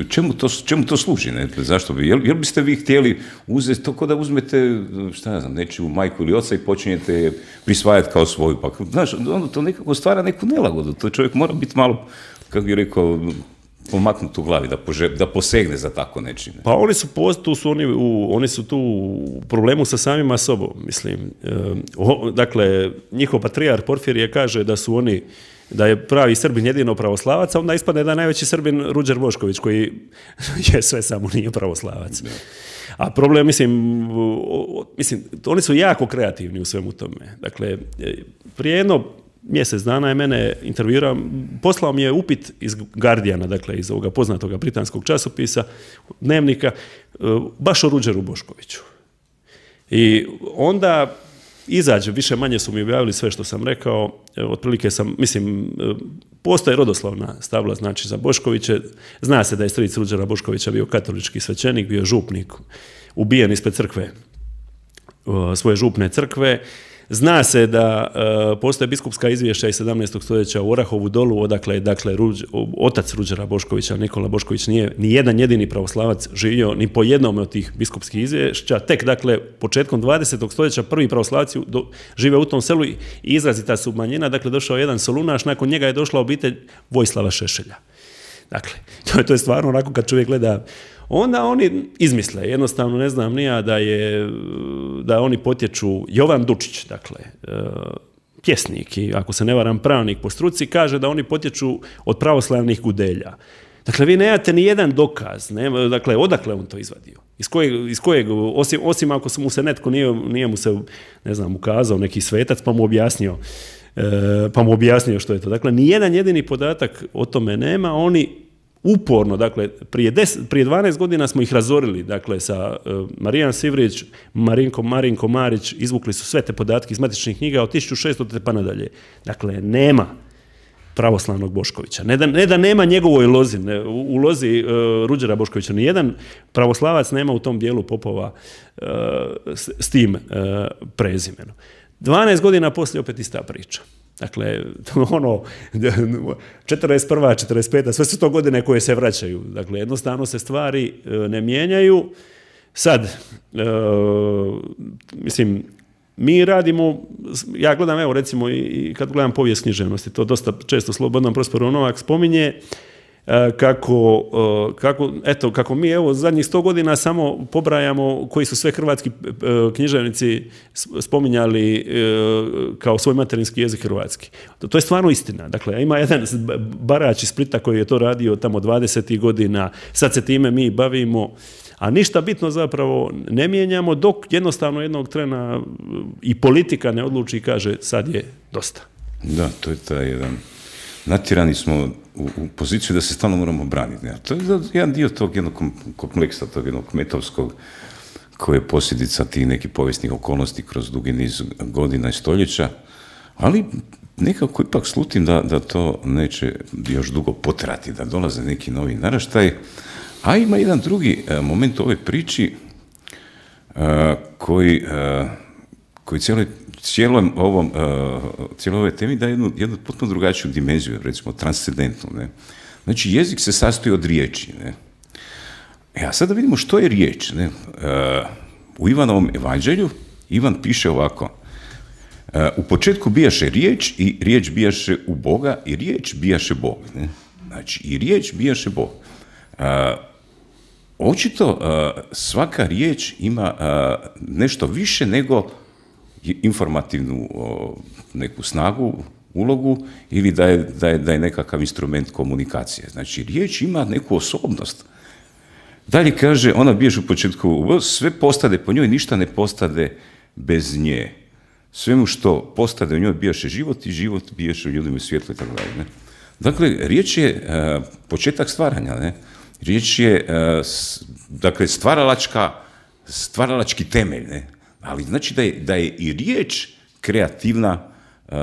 čemu, to, čemu to služi? Ne? Zašto bi, jel, jel biste vi htjeli uzeti to kao da uzmete, šta ja znam, nečiju majku ili oca i počinjete je prisvajati kao svoju, pa znaš, ono to nekako stvara neku nelagodu, to čovjek mora biti malo, kako bih rekao, pomaknuti u glavi, da, pože, da posegne za tako nečim. Pa oni su, tu su oni, u, oni su tu u problemu sa samima sobom, mislim. E, o, dakle, njihov patrijar Porfirije kaže da su oni, da je pravi Srbin jedino pravoslavac, a onda ispadne da je najveći Srbin Ruđer Bošković, koji je sve samo nije pravoslavac. A problem, mislim, mislim, oni su jako kreativni u svemu tome. Dakle, prije jedno mjesec dana je mene intervjuirao, poslao mi je upit iz Guardiana, dakle iz ovoga poznatog britanskog časopisa, dnevnika, baš o Ruđeru Boškoviću. I onda izađe, više manje su mi objavili sve što sam rekao, otprilike sam, mislim, postoje rodoslovna stavla, znači za Boškoviće, zna se da je stric Ruđera Boškovića bio katolički svećenik, bio župnik, ubijen ispred crkve, svoje župne crkve. Zna se da uh, postoje biskupska izvješća iz sedamnaestog stoljeća u Orahovu dolu, odakle je dakle, Ruđ, otac Ruđera Boškovića, Nikola Bošković, nije ni jedan jedini pravoslavac živio ni po jednom od tih biskupskih izvješća. Tek, dakle, početkom dvadesetog stoljeća prvi pravoslavci do, žive u tom selu i izrazita su manjina. Dakle, došao jedan Solunaš, nakon njega je došla obitelj Vojislava Šešelja. Dakle, to je, to je stvarno onako kad čovjek gleda. Onda oni izmisle, jednostavno ne znam nija da je, da oni potječu, Jovan Dučić, dakle, pjesnik i ako se ne varam pravnik po struci, kaže da oni potječu od pravoslavnih Gudelja. Dakle, vi nemate ni jedan dokaz, ne? Dakle, odakle on to izvadio? Iz kojeg, iz kojeg osim, osim ako mu se netko nije, nije mu se, ne znam, ukazao neki svetac pa mu objasnio, pa mu objasnio što je to. Dakle, ni jedan jedini podatak o tome nema, oni uporno, dakle, prije, deset, prije dvanaest godina smo ih razorili, dakle, sa uh, Marijan Sivrić, Marinko, Marinko Marić, izvukli su sve te podatke iz matičnih knjiga od tisuću šeststo pa nadalje. Dakle, nema pravoslavnog Boškovića. Ne da, ne da nema njegovoj lozi, ne, u, u lozi uh, Ruđera Boškovića. Nijedan pravoslavac nema u tom dijelu popova uh, s, s tim uh, prezimenom. dvanaest godina poslije opet ista priča. Dakle, ono, četrdeset prva, četrdeset peta, sve su to godine koje se vraćaju. Dakle, jednostavno se stvari ne mijenjaju. Sad, e, mislim, mi radimo, ja gledam, evo recimo, i kad gledam povijest književnosti, to dosta često Slobodan Prosperov Novak spominje, kako, kako, eto, kako mi evo zadnjih sto godina samo pobrajamo koji su sve hrvatski književnici spominjali kao svoj materinski jezik hrvatski. To je stvarno istina. Dakle, ima jedan Barać iz Splita koji je to radio tamo dvadesetih godina, sad se time mi bavimo, a ništa bitno zapravo ne mijenjamo dok jednostavno jednog trena i politika ne odluči i kaže sad je dosta. Da, to je taj jedan... Natjerani smo u, u poziciju da se stalno moramo braniti. To je jedan dio tog jednog kompleksa, tog jednog metovskog, koji je posljedica tih nekih povijesnih okolnosti kroz dugi niz godina i stoljeća, ali nekako ipak slutim da, da to neće još dugo potrati, da dolaze neki novi naraštaj. A ima jedan drugi moment u ovoj priči koji, koji cijeloj cijelom ovom, cijeloj ovoj temi daje jednu, jednu potpuno drugačiju dimenziju, recimo transcendentnu. Ne? Znači, jezik se sastoji od riječi. Ne? E, a sad da vidimo što je riječ. Ne? U Ivanovom evanđelju Ivan piše ovako: u početku bijaše riječ i riječ bijaše u Boga i riječ bijaše Bog. Ne? Znači, i riječ bijaše Bog. Očito svaka riječ ima nešto više nego informativnu neku snagu, ulogu ili da je, da je, da je nekakav instrument komunikacije. Znači, riječ ima neku osobnost. Dalje kaže, ona bijaše u početku, sve postade po njoj, ništa ne postade bez nje. Svemu što postade u njoj bijaše život i život bijaše u ljudima svjetlo i tako dalje. Dakle, riječ je uh, početak stvaranja, ne? Riječ je, uh, s, dakle, stvaralačka, stvaralački temelj, ne? Ali znači da je, da je i riječ kreativna, uh,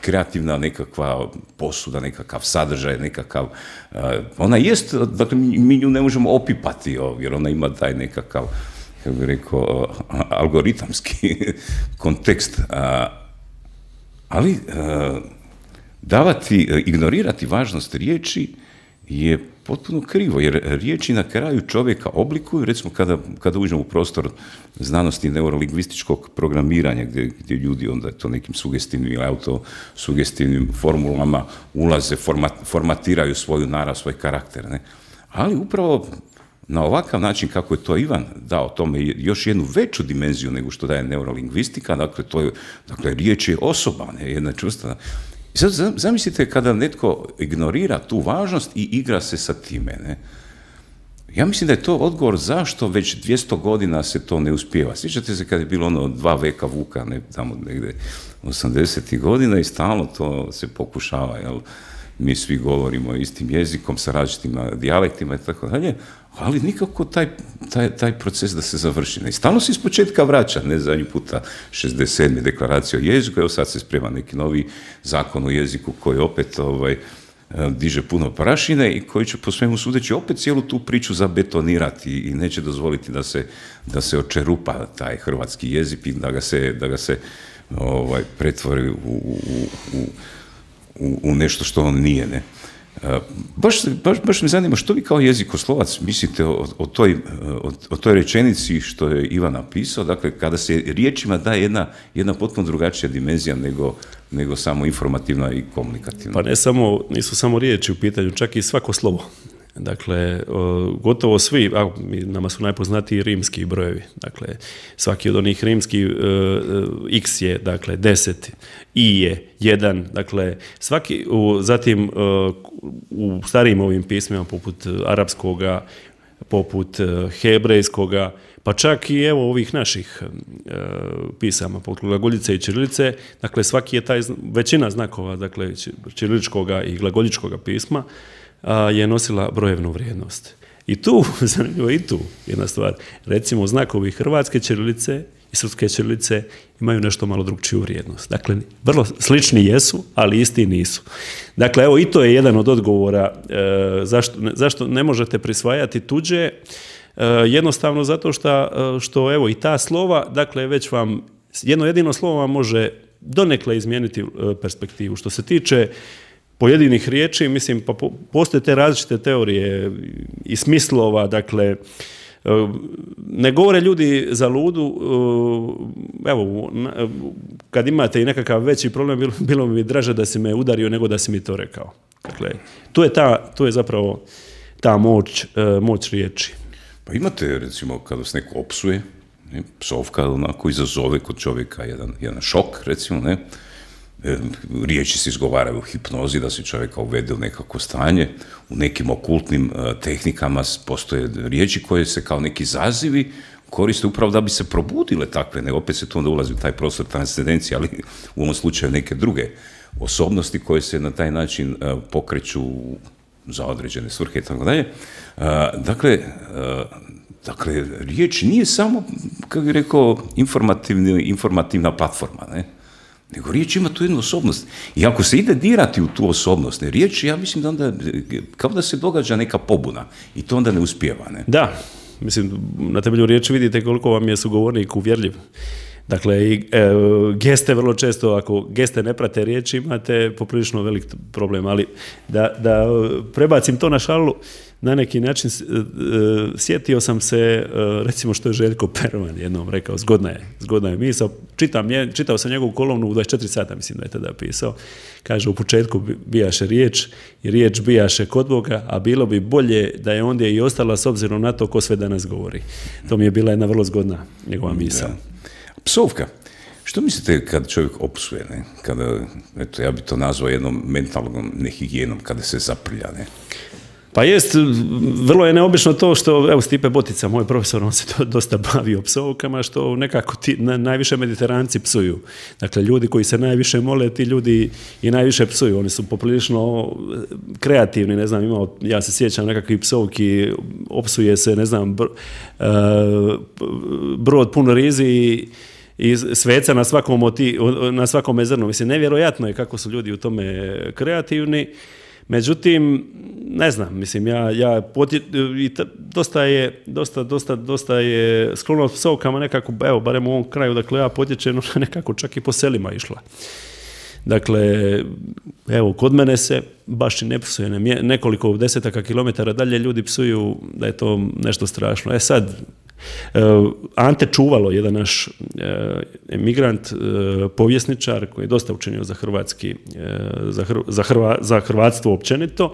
kreativna nekakva posuda, nekakav sadržaj, nekakav... Uh, ona jest, dakle, mi, mi nju ne možemo opipati, jer ona ima taj nekakav, kako bih rekao, uh, algoritamski kontekst. Uh, ali uh, davati, uh, ignorirati važnost riječi je potpuno krivo, jer riječi na kraju čovjeka oblikuju, recimo kada, kada uđemo u prostor znanosti neurolingvističkog programiranja, gdje, gdje ljudi onda to nekim sugestivnim ili autosugestivnim formulama ulaze, format, formatiraju svoju narav, svoj karakter. Ne? Ali upravo na ovakav način kako je to Ivan dao tome još jednu veću dimenziju nego što daje neurolingvistika, dakle, to je, dakle riječ je osoba, ne, jedna čvrsta. I sad zamislite kada netko ignorira tu važnost i igra se sa time. Ne? Ja mislim da je to odgovor zašto već dvjesto godina se to ne uspijeva. Sjećate se kad je bilo ono dva veka Vuka, ne, tamo negdje osamdesetih godina i stalno to se pokušava, jel? Mi svi govorimo istim jezikom, sa različitim dijalektima i tako dalje, ali nikako taj, taj, taj proces da se završi. I stalno se ispočetka vraća, ne zadnji puta šezdeset sedme deklaracija o jeziku, evo sad se sprema neki novi zakon o jeziku koji opet ovaj, diže puno prašine i koji će po svemu sudeći opet cijelu tu priču zabetonirati i neće dozvoliti da se, da se očerupa taj hrvatski jezik i da ga se, da ga se ovaj, pretvori u, u, u U, u nešto što on nije. Ne? Baš, baš, baš me zanima što vi kao jezikoslovac mislite o, o, toj, o, o toj rečenici što je Ivan napisao, dakle kada se riječima daje jedna, jedna potpuno drugačija dimenzija nego, nego samo informativna i komunikativna. Pa ne samo, nisu samo riječi u pitanju, čak i svako slovo. Dakle, gotovo svi, a nama su najpoznatiji rimski brojevi, dakle, svaki od onih rimskih uh, x je, dakle, deset, i je jedan, dakle, svaki, uh, zatim uh, u starijim ovim pismima, poput arapskoga, poput uh, hebrejskoga, pa čak i evo ovih naših uh, pisama, poput glagoljice i ćirilice, dakle, svaki je taj, većina znakova, dakle, ćiriličkoga i glagoljičkoga pisma, je nosila brojevnu vrijednost. I tu, zanimljivo i tu jedna stvar, recimo znakovi hrvatske ćirilice i srpske ćirilice imaju nešto malo drugčiju vrijednost. Dakle, vrlo slični jesu, ali isti nisu. Dakle, evo i to je jedan od odgovora e, zašto, ne, zašto ne možete prisvajati tuđe, e, jednostavno zato što, što evo i ta slova, dakle, već vam, jedno jedino slovo vam može donekle izmijeniti perspektivu. Što se tiče pojedinih riječi, mislim, pa postoje te različite teorije i smislova, dakle, ne govore ljudi za ludu, evo, kad imate i nekakav veći problem, bilo, bilo mi draže da si me udario nego da si mi to rekao. Dakle, to je, ta, to je zapravo ta moć, moć riječi. Pa imate, recimo, kada se neko opsuje, ne, psovka onako izazove kod čovjeka jedan, jedan šok, recimo, ne, riječi se izgovaraju u hipnozi da se čovjeka uvede u nekako stanje, u nekim okultnim uh, tehnikama postoje riječi koje se kao neki zazivi koriste upravo da bi se probudile takve, ne, opet se tu onda ulazi u taj prostor transcendencije, ali u ovom slučaju neke druge osobnosti koje se na taj način uh, pokreću za određene svrhe i tako dalje. Uh, dakle, uh, dakle, riječ nije samo, kako bih rekao, informativna platforma, ne? Nego riječ ima tu jednu osobnost. I ako se ide dirati u tu osobnost, ne, riječ, ja mislim da onda, kao da se događa neka pobuna i to onda ne uspijeva, ne? Da, mislim, na temelju riječi vidite koliko vam je sugovornik uvjerljiv. Dakle, i, e, geste vrlo često, ako geste ne prate riječi, imate poprilično velik problem, ali da, da prebacim to na šalu, na neki način sjetio sam se, recimo što je Željko Pervan jednom rekao, zgodna je, zgodna je misao, čitam, čitao sam njegovu kolumnu u dvadeset četiri sata, mislim da je tada pisao, kaže u početku bijaše riječ i riječ bijaše kod Boga, a bilo bi bolje da je ondje i ostala s obzirom na to ko sve danas govori. To mi je bila jedna vrlo zgodna njegova misao. Da. Psovka. Što mislite kad čovjek opsuje, ne? Kada, eto, ja bi to nazvao jednom mentalnom nehigijenom, kada se zaprlja, ne? Pa jest, vrlo je neobično to što, evo Stipe Botica, moj profesor, on se to dosta bavi psovkama, što nekako ti, na, najviše Mediteranci psuju. Dakle, ljudi koji se najviše mole, ti ljudi i najviše psuju. Oni su poprilično kreativni, ne znam, imao, ja se sjećam nekakvih psovki, opsuje se, ne znam, br, uh, brod pun rizi i i sveca na svakom, oti, na svakom zrnu. Mislim, nevjerojatno je kako su ljudi u tome kreativni. Međutim, ne znam, mislim, ja, ja potje, i ta, dosta je, dosta, dosta, dosta je sklonost psovkama nekako, evo, barem u ovom kraju, dakle, ja potječem, nekako čak i po selima išla. Dakle, evo, kod mene se baš i ne psuje, ne, nekoliko desetaka kilometara dalje ljudi psuju da je to nešto strašno. E sad, Ante Čuvalo, jedan naš emigrant, povjesničar koji je dosta učinio za hrvatski, za, hr, za, hrva, za hrvatstvo općenito,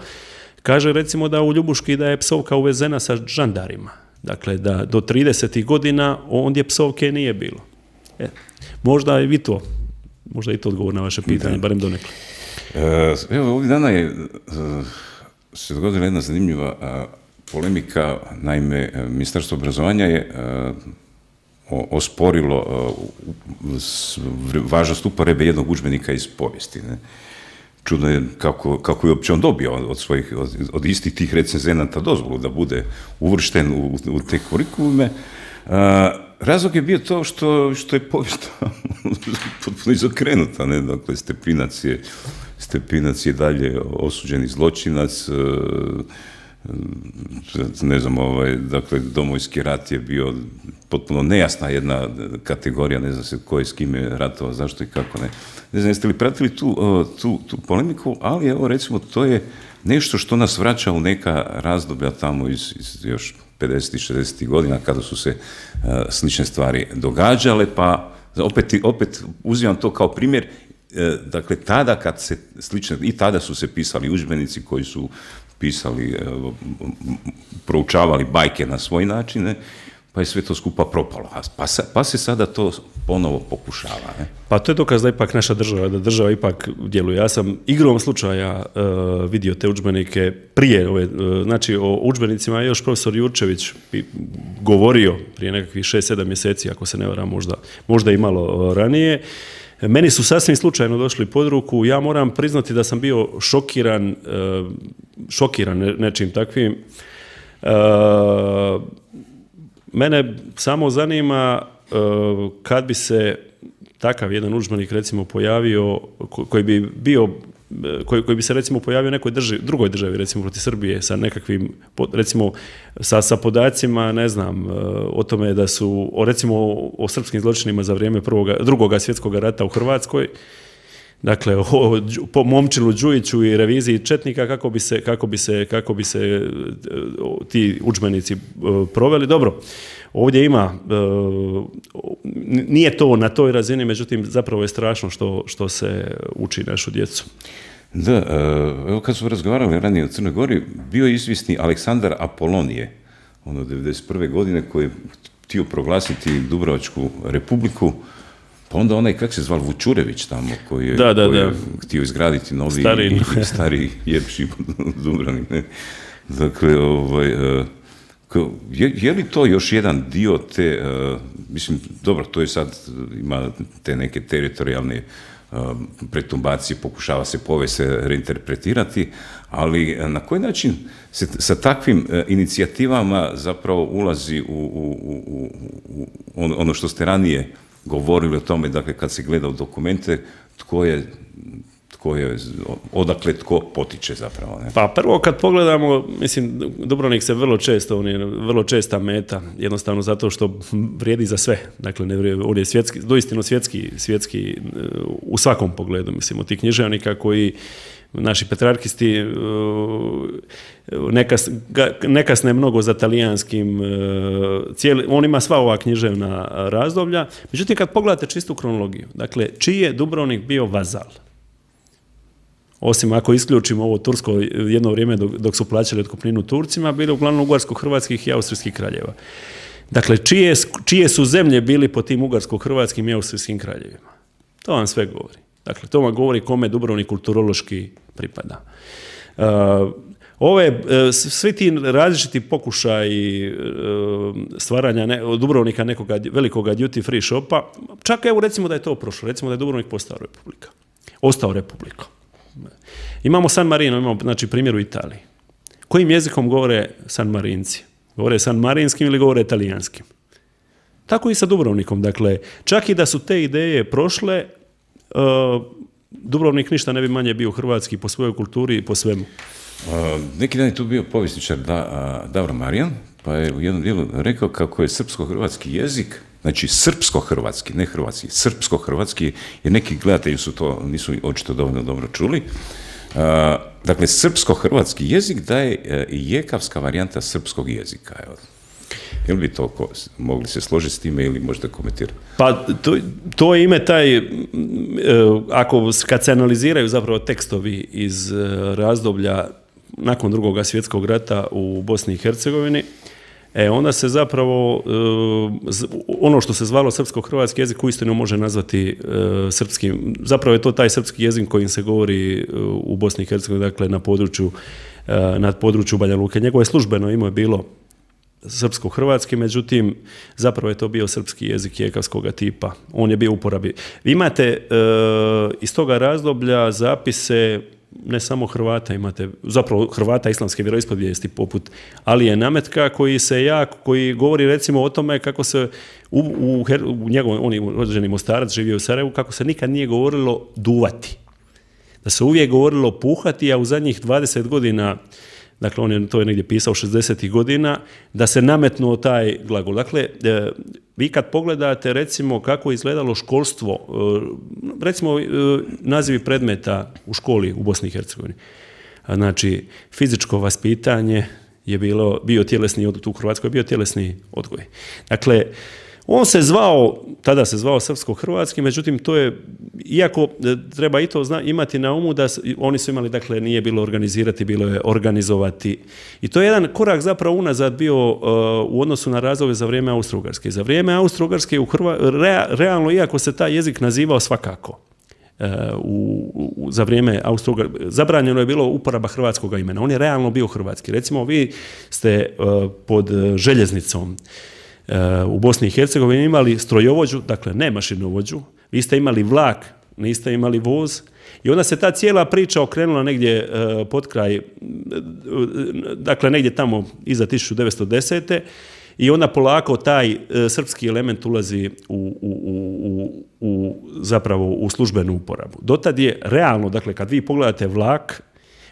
kaže recimo da u Ljubuški da je psovka uvezena sa žandarima. Dakle, da do tridesetih godina ondje psovke nije bilo. E, možda i vi to, možda i to odgovor na vaše pitanje, da. Barem donekle. Evo, ovih dana je se dogodila jedna zanimljiva polemika. Naime, Ministarstvo obrazovanja je uh, osporilo uh, važnost uporabe jednog udžbenika iz povijesti. Ne? Čudno je kako, kako je uopće on dobio od, svojih, od, od istih tih recenzenata dozvolu da bude uvršten u, u te kurikulume. Uh, razlog je bio to što, što je povijest potpuno izokrenuta. Ne? Dakle, Stepinac je, Stepinac je dalje osuđeni zločinac, uh, ne znam, ovaj, dakle, Domovinski rat je bio potpuno nejasna jedna kategorija, ne znam se ko je s kime ratovao, zašto i kako ne. Ne znam, jeste li pratili tu, tu, tu polemiku, ali evo, recimo, to je nešto što nas vraća u neka razdoblja tamo iz, iz još pedesetih, šezdesetih godina, kada su se uh, slične stvari događale, pa opet, opet uzimam to kao primjer. Dakle, tada kad se slične, i tada su se pisali udžbenici koji su pisali, proučavali bajke na svoj način, ne? Pa je sve to skupa propalo. Pa, sa, pa se sada to ponovo pokušava. Ne? Pa to je dokaz da ipak naša država, da država ipak djeluje. Ja sam igrom slučaja uh, vidio te udžbenike prije, ove, uh, znači o udžbenicima je još profesor Jurčević govorio prije nekakvih šest sedam mjeseci, ako se ne varam, možda, možda i malo ranije. Meni su sasvim slučajno došli pod ruku, ja moram priznati da sam bio šokiran, šokiran nečim takvim. Mene samo zanima kad bi se takav jedan udžbenik recimo pojavio, koji bi bio, koji, koji bi se recimo pojavio u nekoj državi, drugoj državi, recimo protiv Srbije, sa nekakvim, recimo sa, sa podacima, ne znam, o tome da su, o, recimo o srpskim zločinima za vrijeme prvoga, drugoga svjetskog rata u Hrvatskoj, dakle o, po Momčilu Đujiću i reviziji četnika, kako bi se, kako bi se, kako bi se ti udžbenici proveli. Dobro, ovdje ima, nije to na toj razini, međutim zapravo je strašno što, što se uči našu djecu. Da, evo kad smo razgovarali ranije o Crnoj Gori, bio je izvisni Aleksandar Apolonije, ono devedeset prve godine, koji je htio proglasiti Dubrovačku republiku, pa onda onaj, kak se zval, Vučurević tamo, koji je, da, da, koji je da. htio izgraditi novi stari, stari Jepši Dubrovnik. Ne? Dakle, ovaj, je, je li to još jedan dio te, mislim, dobro, to je sad, ima te neke teritorijalne pretumbacije, pokušava se povijest reinterpretirati, ali na koji način se sa takvim inicijativama zapravo ulazi u, u, u, u ono što ste ranije govorili o tome, dakle kad se gleda u dokumente, tko je, tko je, odakle tko potiče zapravo. Ne? Pa prvo kad pogledamo, mislim, Dubrovnik se vrlo često, on je vrlo česta meta, jednostavno zato što vrijedi za sve. Dakle, ne vrijedi, on je svjetski, doistino svjetski, svjetski u svakom pogledu, mislim, od tih književnika koji naši petrarkisti nekas, nekasne mnogo za talijanskim, cijeli, on ima sva ova književna razdoblja. Međutim, kad pogledate čistu kronologiju, dakle, čiji je Dubrovnik bio vazal? Osim ako isključimo ovo tursko jedno vrijeme dok, dok su plaćali otkupninu Turcima, bili uglavnom ugarsko-hrvatskih i austrijskih kraljeva. Dakle, čije, čije su zemlje bili po tim ugarsko-hrvatskim i austrijskim kraljevima? To vam sve govori. Dakle, to vam govori kome Dubrovnik kulturološki pripada. Uh, ove, uh, svi ti različiti pokušaji uh, stvaranja ne, Dubrovnika nekoga velikoga duty free shopa, čak evo recimo da je to prošlo, recimo da je Dubrovnik postao republika. Ostao republika. Imamo San Marino, imamo znači, primjer u Italiji. Kojim jezikom govore San Marinci? Govore San Marinskim ili govore talijanskim? Tako i sa Dubrovnikom. Dakle, čak i da su te ideje prošle, Uh, Dubrovnik ništa ne bi manje bio hrvatski po svojoj kulturi i po svemu. Uh, neki dan je tu bio povjesničar da, uh, Davor Marijan, pa je u jednom dijelu rekao kako je srpsko-hrvatski jezik, znači srpsko-hrvatski, ne hrvatski, srpsko-hrvatski, jer neki gledatelji su to, nisu očito dovoljno dobro čuli. Uh, dakle, srpsko-hrvatski jezik da je uh, jekavska varijanta srpskog jezika. Evo. Je li bi to ko, mogli se složiti s time ili možda komentirati? Pa to, to ime taj, ako kad se analiziraju zapravo tekstovi iz razdoblja nakon drugog svjetskog rata u Bosni i Hercegovini, e, onda se zapravo ono što se zvalo srpsko-hrvatski jezik uistinu može nazvati srpskim. Zapravo je to taj srpski jezik kojim se govori u Bosni i Hercegovini, dakle na području, na području Banja Luke. Njegovo je službeno ime bilo srpsko-hrvatski, međutim, zapravo je to bio srpski jezik jekavskog tipa. On je bio u uporabi. Vi imate e, iz toga razdoblja zapise ne samo Hrvata, imate zapravo Hrvata islamske vjeroispovijesti poput Alije Nametka, koji se jako, koji govori recimo o tome kako se u, u, u njegovom, on je rođeni Mostarac, živio u Sarajevu, kako se nikad nije govorilo duvati. Da se uvijek govorilo puhati, a u zadnjih dvadeset godina, dakle, on je to je negdje pisao šezdesetih godina, da se nametnuo taj glagol. Dakle, e, vi kad pogledate, recimo, kako je izgledalo školstvo, e, recimo, e, nazivi predmeta u školi u Bosni i Hercegovini. Znači, fizičko vaspitanje je bilo, bio tjelesni odgoj, u Hrvatskoj je bio tjelesni odgoj. Dakle, on se zvao, tada se zvao srpsko-hrvatski, međutim, to je, iako treba i to zna, imati na umu da oni su imali, dakle, nije bilo organizirati, bilo je organizovati. I to je jedan korak zapravo unazad bio uh, u odnosu na razdoblje za vrijeme Austro-Ugarske. Za vrijeme Austro-Ugarske, u Hrva, rea, realno, iako se taj jezik nazivao svakako, uh, u, u, za vrijeme Austro-Ugarske, zabranjeno je bilo uporaba hrvatskog imena. On je realno bio hrvatski. Recimo, vi ste uh, pod željeznicom u Bosni i Hercegovini imali strojovođu, dakle ne mašinovođu, vi ste imali vlak, niste imali voz, i onda se ta cijela priča okrenula negdje uh, pod kraj, uh, dakle negdje tamo iza tisuću devetsto desete. I onda polako taj uh, srpski element ulazi u, u, u, u, zapravo u službenu uporabu. Dotad je realno, dakle kad vi pogledate vlak,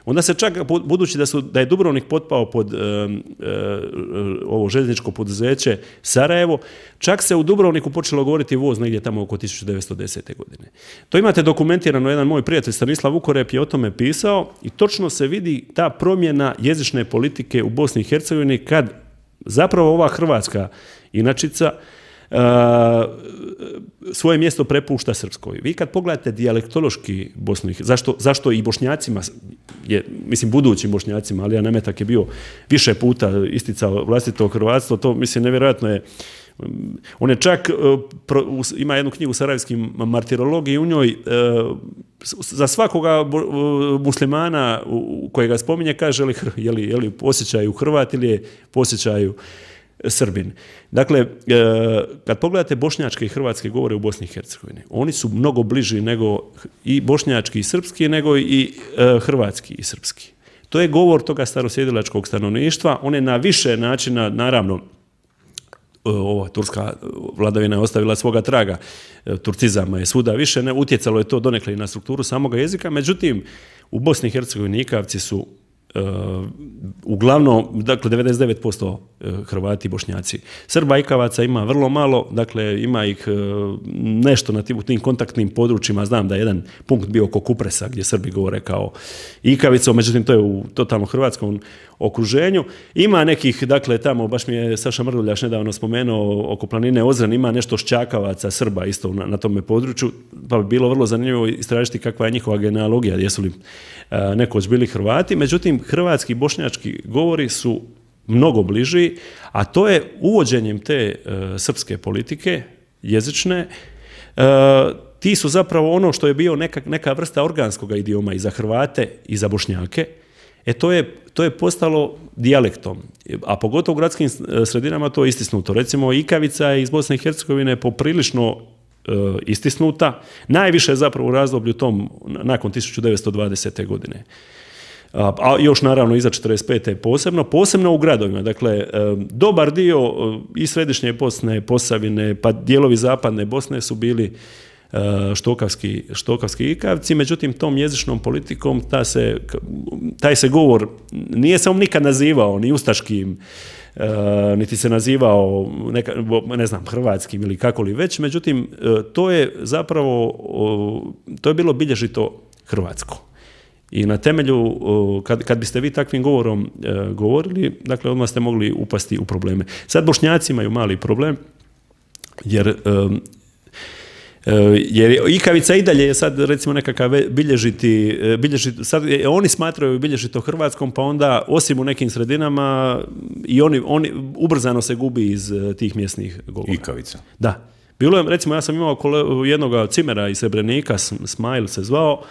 onda se čak, budući da, su, da je Dubrovnik potpao pod e, e, ovo željezničko poduzeće Sarajevo, čak se u Dubrovniku počelo govoriti voz negdje tamo oko tisuću devetsto desete. godine. To imate dokumentirano, jedan moj prijatelj Stanislav Vukorep je o tome pisao i točno se vidi ta promjena jezične politike u Bosni i Hercegovini kad zapravo ova hrvatska inačica svoje mjesto prepušta Srpskoj. Vi kad pogledate dijalektološki Bosnu, zašto, zašto i Bošnjacima, je, mislim budućim Bošnjacima, Alija Nemetak je bio više puta isticao vlastito hrvatstvo, to mislim nevjerojatno je. On je čak, ima jednu knjigu Sarajevski martirolog i u njoj za svakoga muslimana kojega spominje kaže je li, je li posjećaju Hrvat ili je posjećaju Srbin. Dakle, kad pogledate bošnjačke i hrvatske govore u Bosni i Hercegovini, oni su mnogo bliži nego i bošnjački i srpski, nego i hrvatski i srpski. To je govor toga starosjedilačkog stanovništva, on je na više načina, naravno, ova turska vladavina je ostavila svoga traga, turcizama je svuda više, ne, utjecalo je to donekle i na strukturu samoga jezika, međutim, u Bosni i Hercegovini ikavci su Uh, uglavnom, dakle, devedeset devet posto Hrvati i Bošnjaci. Srba ikavaca ima vrlo malo, dakle, ima ih uh, nešto na tim, u tim kontaktnim područjima. Znam da je jedan punkt bio oko Kupresa, gdje Srbi govore kao ikavicom, međutim, to je u totalno hrvatskom okruženju. Ima nekih, dakle, tamo, baš mi je Saša Mrduljaš nedavno spomenuo, oko planine Ozren, ima nešto šćakavaca Srba isto na, na tome području, pa bi bilo vrlo zanimljivo istražiti kakva je njihova genealogija, jesu li uh, nekoć bili Hrvati. Međutim, hrvatski i bošnjački govori su mnogo bliži, a to je uvođenjem te uh, srpske politike, jezične, uh, ti su zapravo ono što je bio neka, neka vrsta organskog idioma i za Hrvate i za Bošnjake, e to je, to je postalo dijalektom, a pogotovo u gradskim sredinama to je istisnuto. Recimo, ikavica je iz Bosne i Hercegovine poprilično uh, istisnuta, najviše zapravo u razdoblju tom nakon tisuću devetsto dvadesete. godine. A još naravno iza četrdeset pete posebno, posebno u gradovima. Dakle, dobar dio i središnje Bosne, Posavine, pa dijelovi zapadne Bosne su bili štokavski, štokavski ikavci, međutim tom jezičnom politikom ta se, taj se govor nije se on nikad nazivao ni ustaškim, niti se nazivao neka, ne znam, hrvatskim ili kako li već, međutim to je zapravo, to je bilo bilježito hrvatsko. I na temelju, kad, kad biste vi takvim govorom e, govorili, dakle, odmah ste mogli upasti u probleme. Sad Bošnjaci imaju mali problem, jer, e, jer ikavica i dalje je sad, recimo, nekakav bilježiti, bilježiti sad oni smatraju bilježito hrvatskom, pa onda, osim u nekim sredinama, i oni, oni ubrzano se gubi iz tih mjesnih govora. Ikavica. Da. Bilo je, recimo, ja sam imao kole, jednog cimera iz Srebrenika, Smajl se zvao,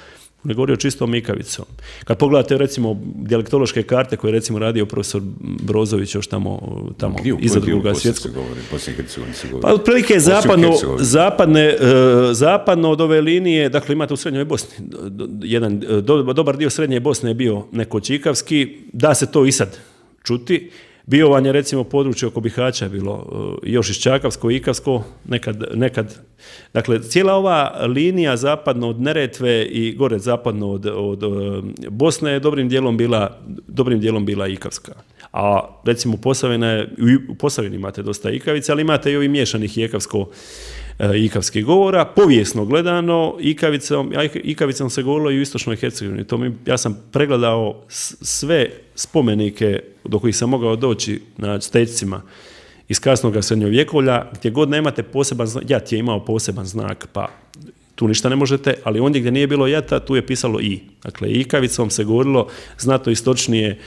on je govorio čistom ikavicom. Kad pogledate, recimo, dijalektološke karte koje je, recimo, radio profesor Brozović još tamo, tamo iza Drugoga svjetskog. Pa otprilike zapadno, zapadne, uh, zapadno od ove linije, dakle, imate u Srednjoj Bosni, jedan do, dobar dio Srednje Bosne je bio nekoć ikavski, da se to i sad čuti. Biovanje, recimo, područje oko Bihaća je bilo uh, još iščakavsko, ikavsko, nekad, nekad. Dakle, cijela ova linija zapadno od Neretve i gore zapadno od, od uh, Bosne je dobrim dijelom bila, dobrim dijelom bila ikavska. A recimo Posavina je, u Posavini imate dosta ikavica, ali imate i ovih miješanih ikavsko, uh, ikavskih govora. Povijesno gledano, ikavicom, ikavicom se govorilo i u istočnoj Hercegovini. To mi, ja sam pregledao sve spomenike do kojih sam mogao doći na stečcima iz kasnog srednjovjekovlja, gdje god nemate poseban znak, jat je imao poseban znak, pa tu ništa ne možete, ali ondje gdje nije bilo jata, tu je pisalo i. Dakle, ikavicom se govorilo znatno istočnije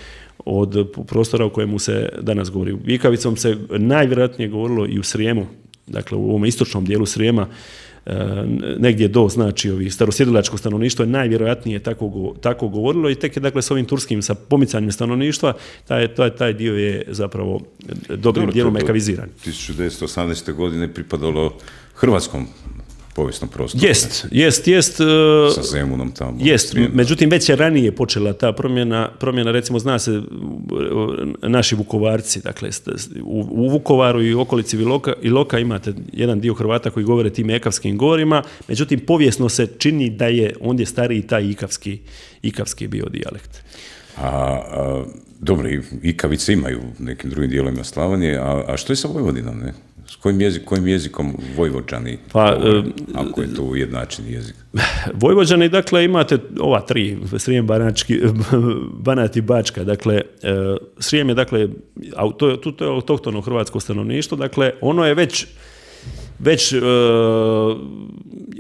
od prostora u kojemu se danas govori. Ikavicom se najvjerojatnije govorilo i u Srijemu, dakle u ovom istočnom dijelu Srijema, negdje do, znači, ovi starosjedilačko stanovništvo je najvjerojatnije tako, tako govorilo i tek je, dakle, s ovim turskim, sa pomicanjem stanovništva, taj, taj, taj dio je zapravo dobrim dijelom ekaviziran. tisuću devetsto osamnaeste. godine pripadalo hrvatskom povijesnom prostoru. Jest, jest, jest. Sa Zemunom tamo. Jest, međutim, već je ranije počela ta promjena, promjena, recimo, zna se, naši Vukovarci, dakle, u, u Vukovaru i okolici Iloka, Iloka imate jedan dio Hrvata koji govore tim ekavskim govorima, međutim, povijesno se čini da je ondje stariji taj ikavski, ikavski bio dijalekt. A, a dobro, ikavice imaju u nekim drugim dijelovima Slavonije, a, a što je sa Vojvodinom, ne? S kojim, jezik, kojim jezikom Vojvođani, pa, govore, ako je to ujednačeni jezik? Vojvođani, dakle, imate ova tri, Srijem, Banački, Banat i Bačka, dakle, Srijem je, dakle, to je, to je autohtono hrvatsko stanovništvo, dakle, ono je već već,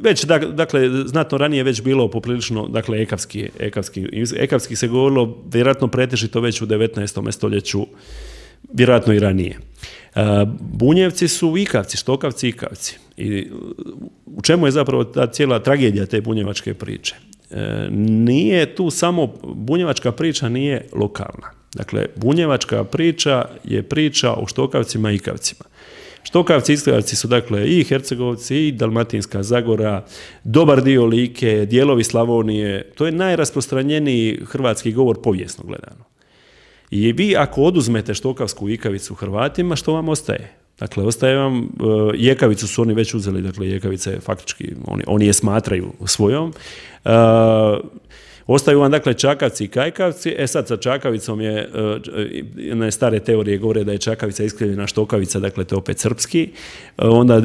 već dakle, znatno ranije već bilo poprilično, dakle, ekavski, ekavski, ekavski se govorilo vjerojatno pretežito već u devetnaestom stoljeću, vjerojatno i ranije. Bunjevci su ikavci, štokavci, ikavci. I u čemu je zapravo ta cijela tragedija te bunjevačke priče? Nije tu samo, bunjevačka priča nije lokalna. Dakle, bunjevačka priča je priča o štokavcima i ikavcima. Štokavci i ikavci su, dakle, i Hercegovci, i Dalmatinska Zagora, dobar dio Like, dijelovi Slavonije. To je najrasprostranjeniji hrvatski govor povijesno gledano. I vi ako oduzmete štokavsku ikavicu Hrvatima, što vam ostaje? Dakle, ostaje vam, uh, jekavicu su oni već uzeli, dakle, jekavica je faktički, oni, oni je smatraju svojom. Uh, Ostaju vam, dakle, čakavci i kajkavci. E sad, sa čakavicom je, jedne stare teorije govore da je čakavica iskrivljena štokavica, dakle, to je opet srpski. Onda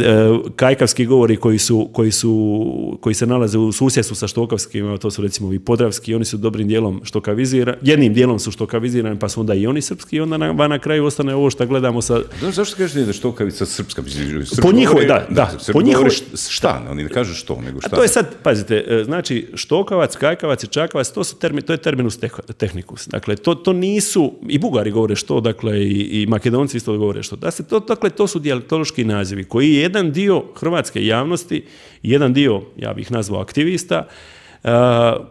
kajkavski govori koji, su, koji, su, koji se nalaze u susjedstvu sa štokavskim, to su recimo i podravski, oni su dobrim dijelom štokavizirani, jednim dijelom su štokavizirani, pa su onda i oni srpski, i onda na, na kraju ostane ovo što gledamo sa... Da, zašto kažete da je štokavica srpska? Srp po njihovoj, da, da. Srp po njihovoj... šta, oni ne kažu što, nego šta. A to je sad, pazite, znači, štokavac, kajkavac i čakavac, to, su termi, to je terminus tehnicus. Dakle, to, to nisu, i Bugari govore što, dakle, i, i Makedonci isto govore što. Dakle, to, dakle, to su dijalektološki nazivi koji je jedan dio hrvatske javnosti, jedan dio, ja bih nazvao aktivista, uh,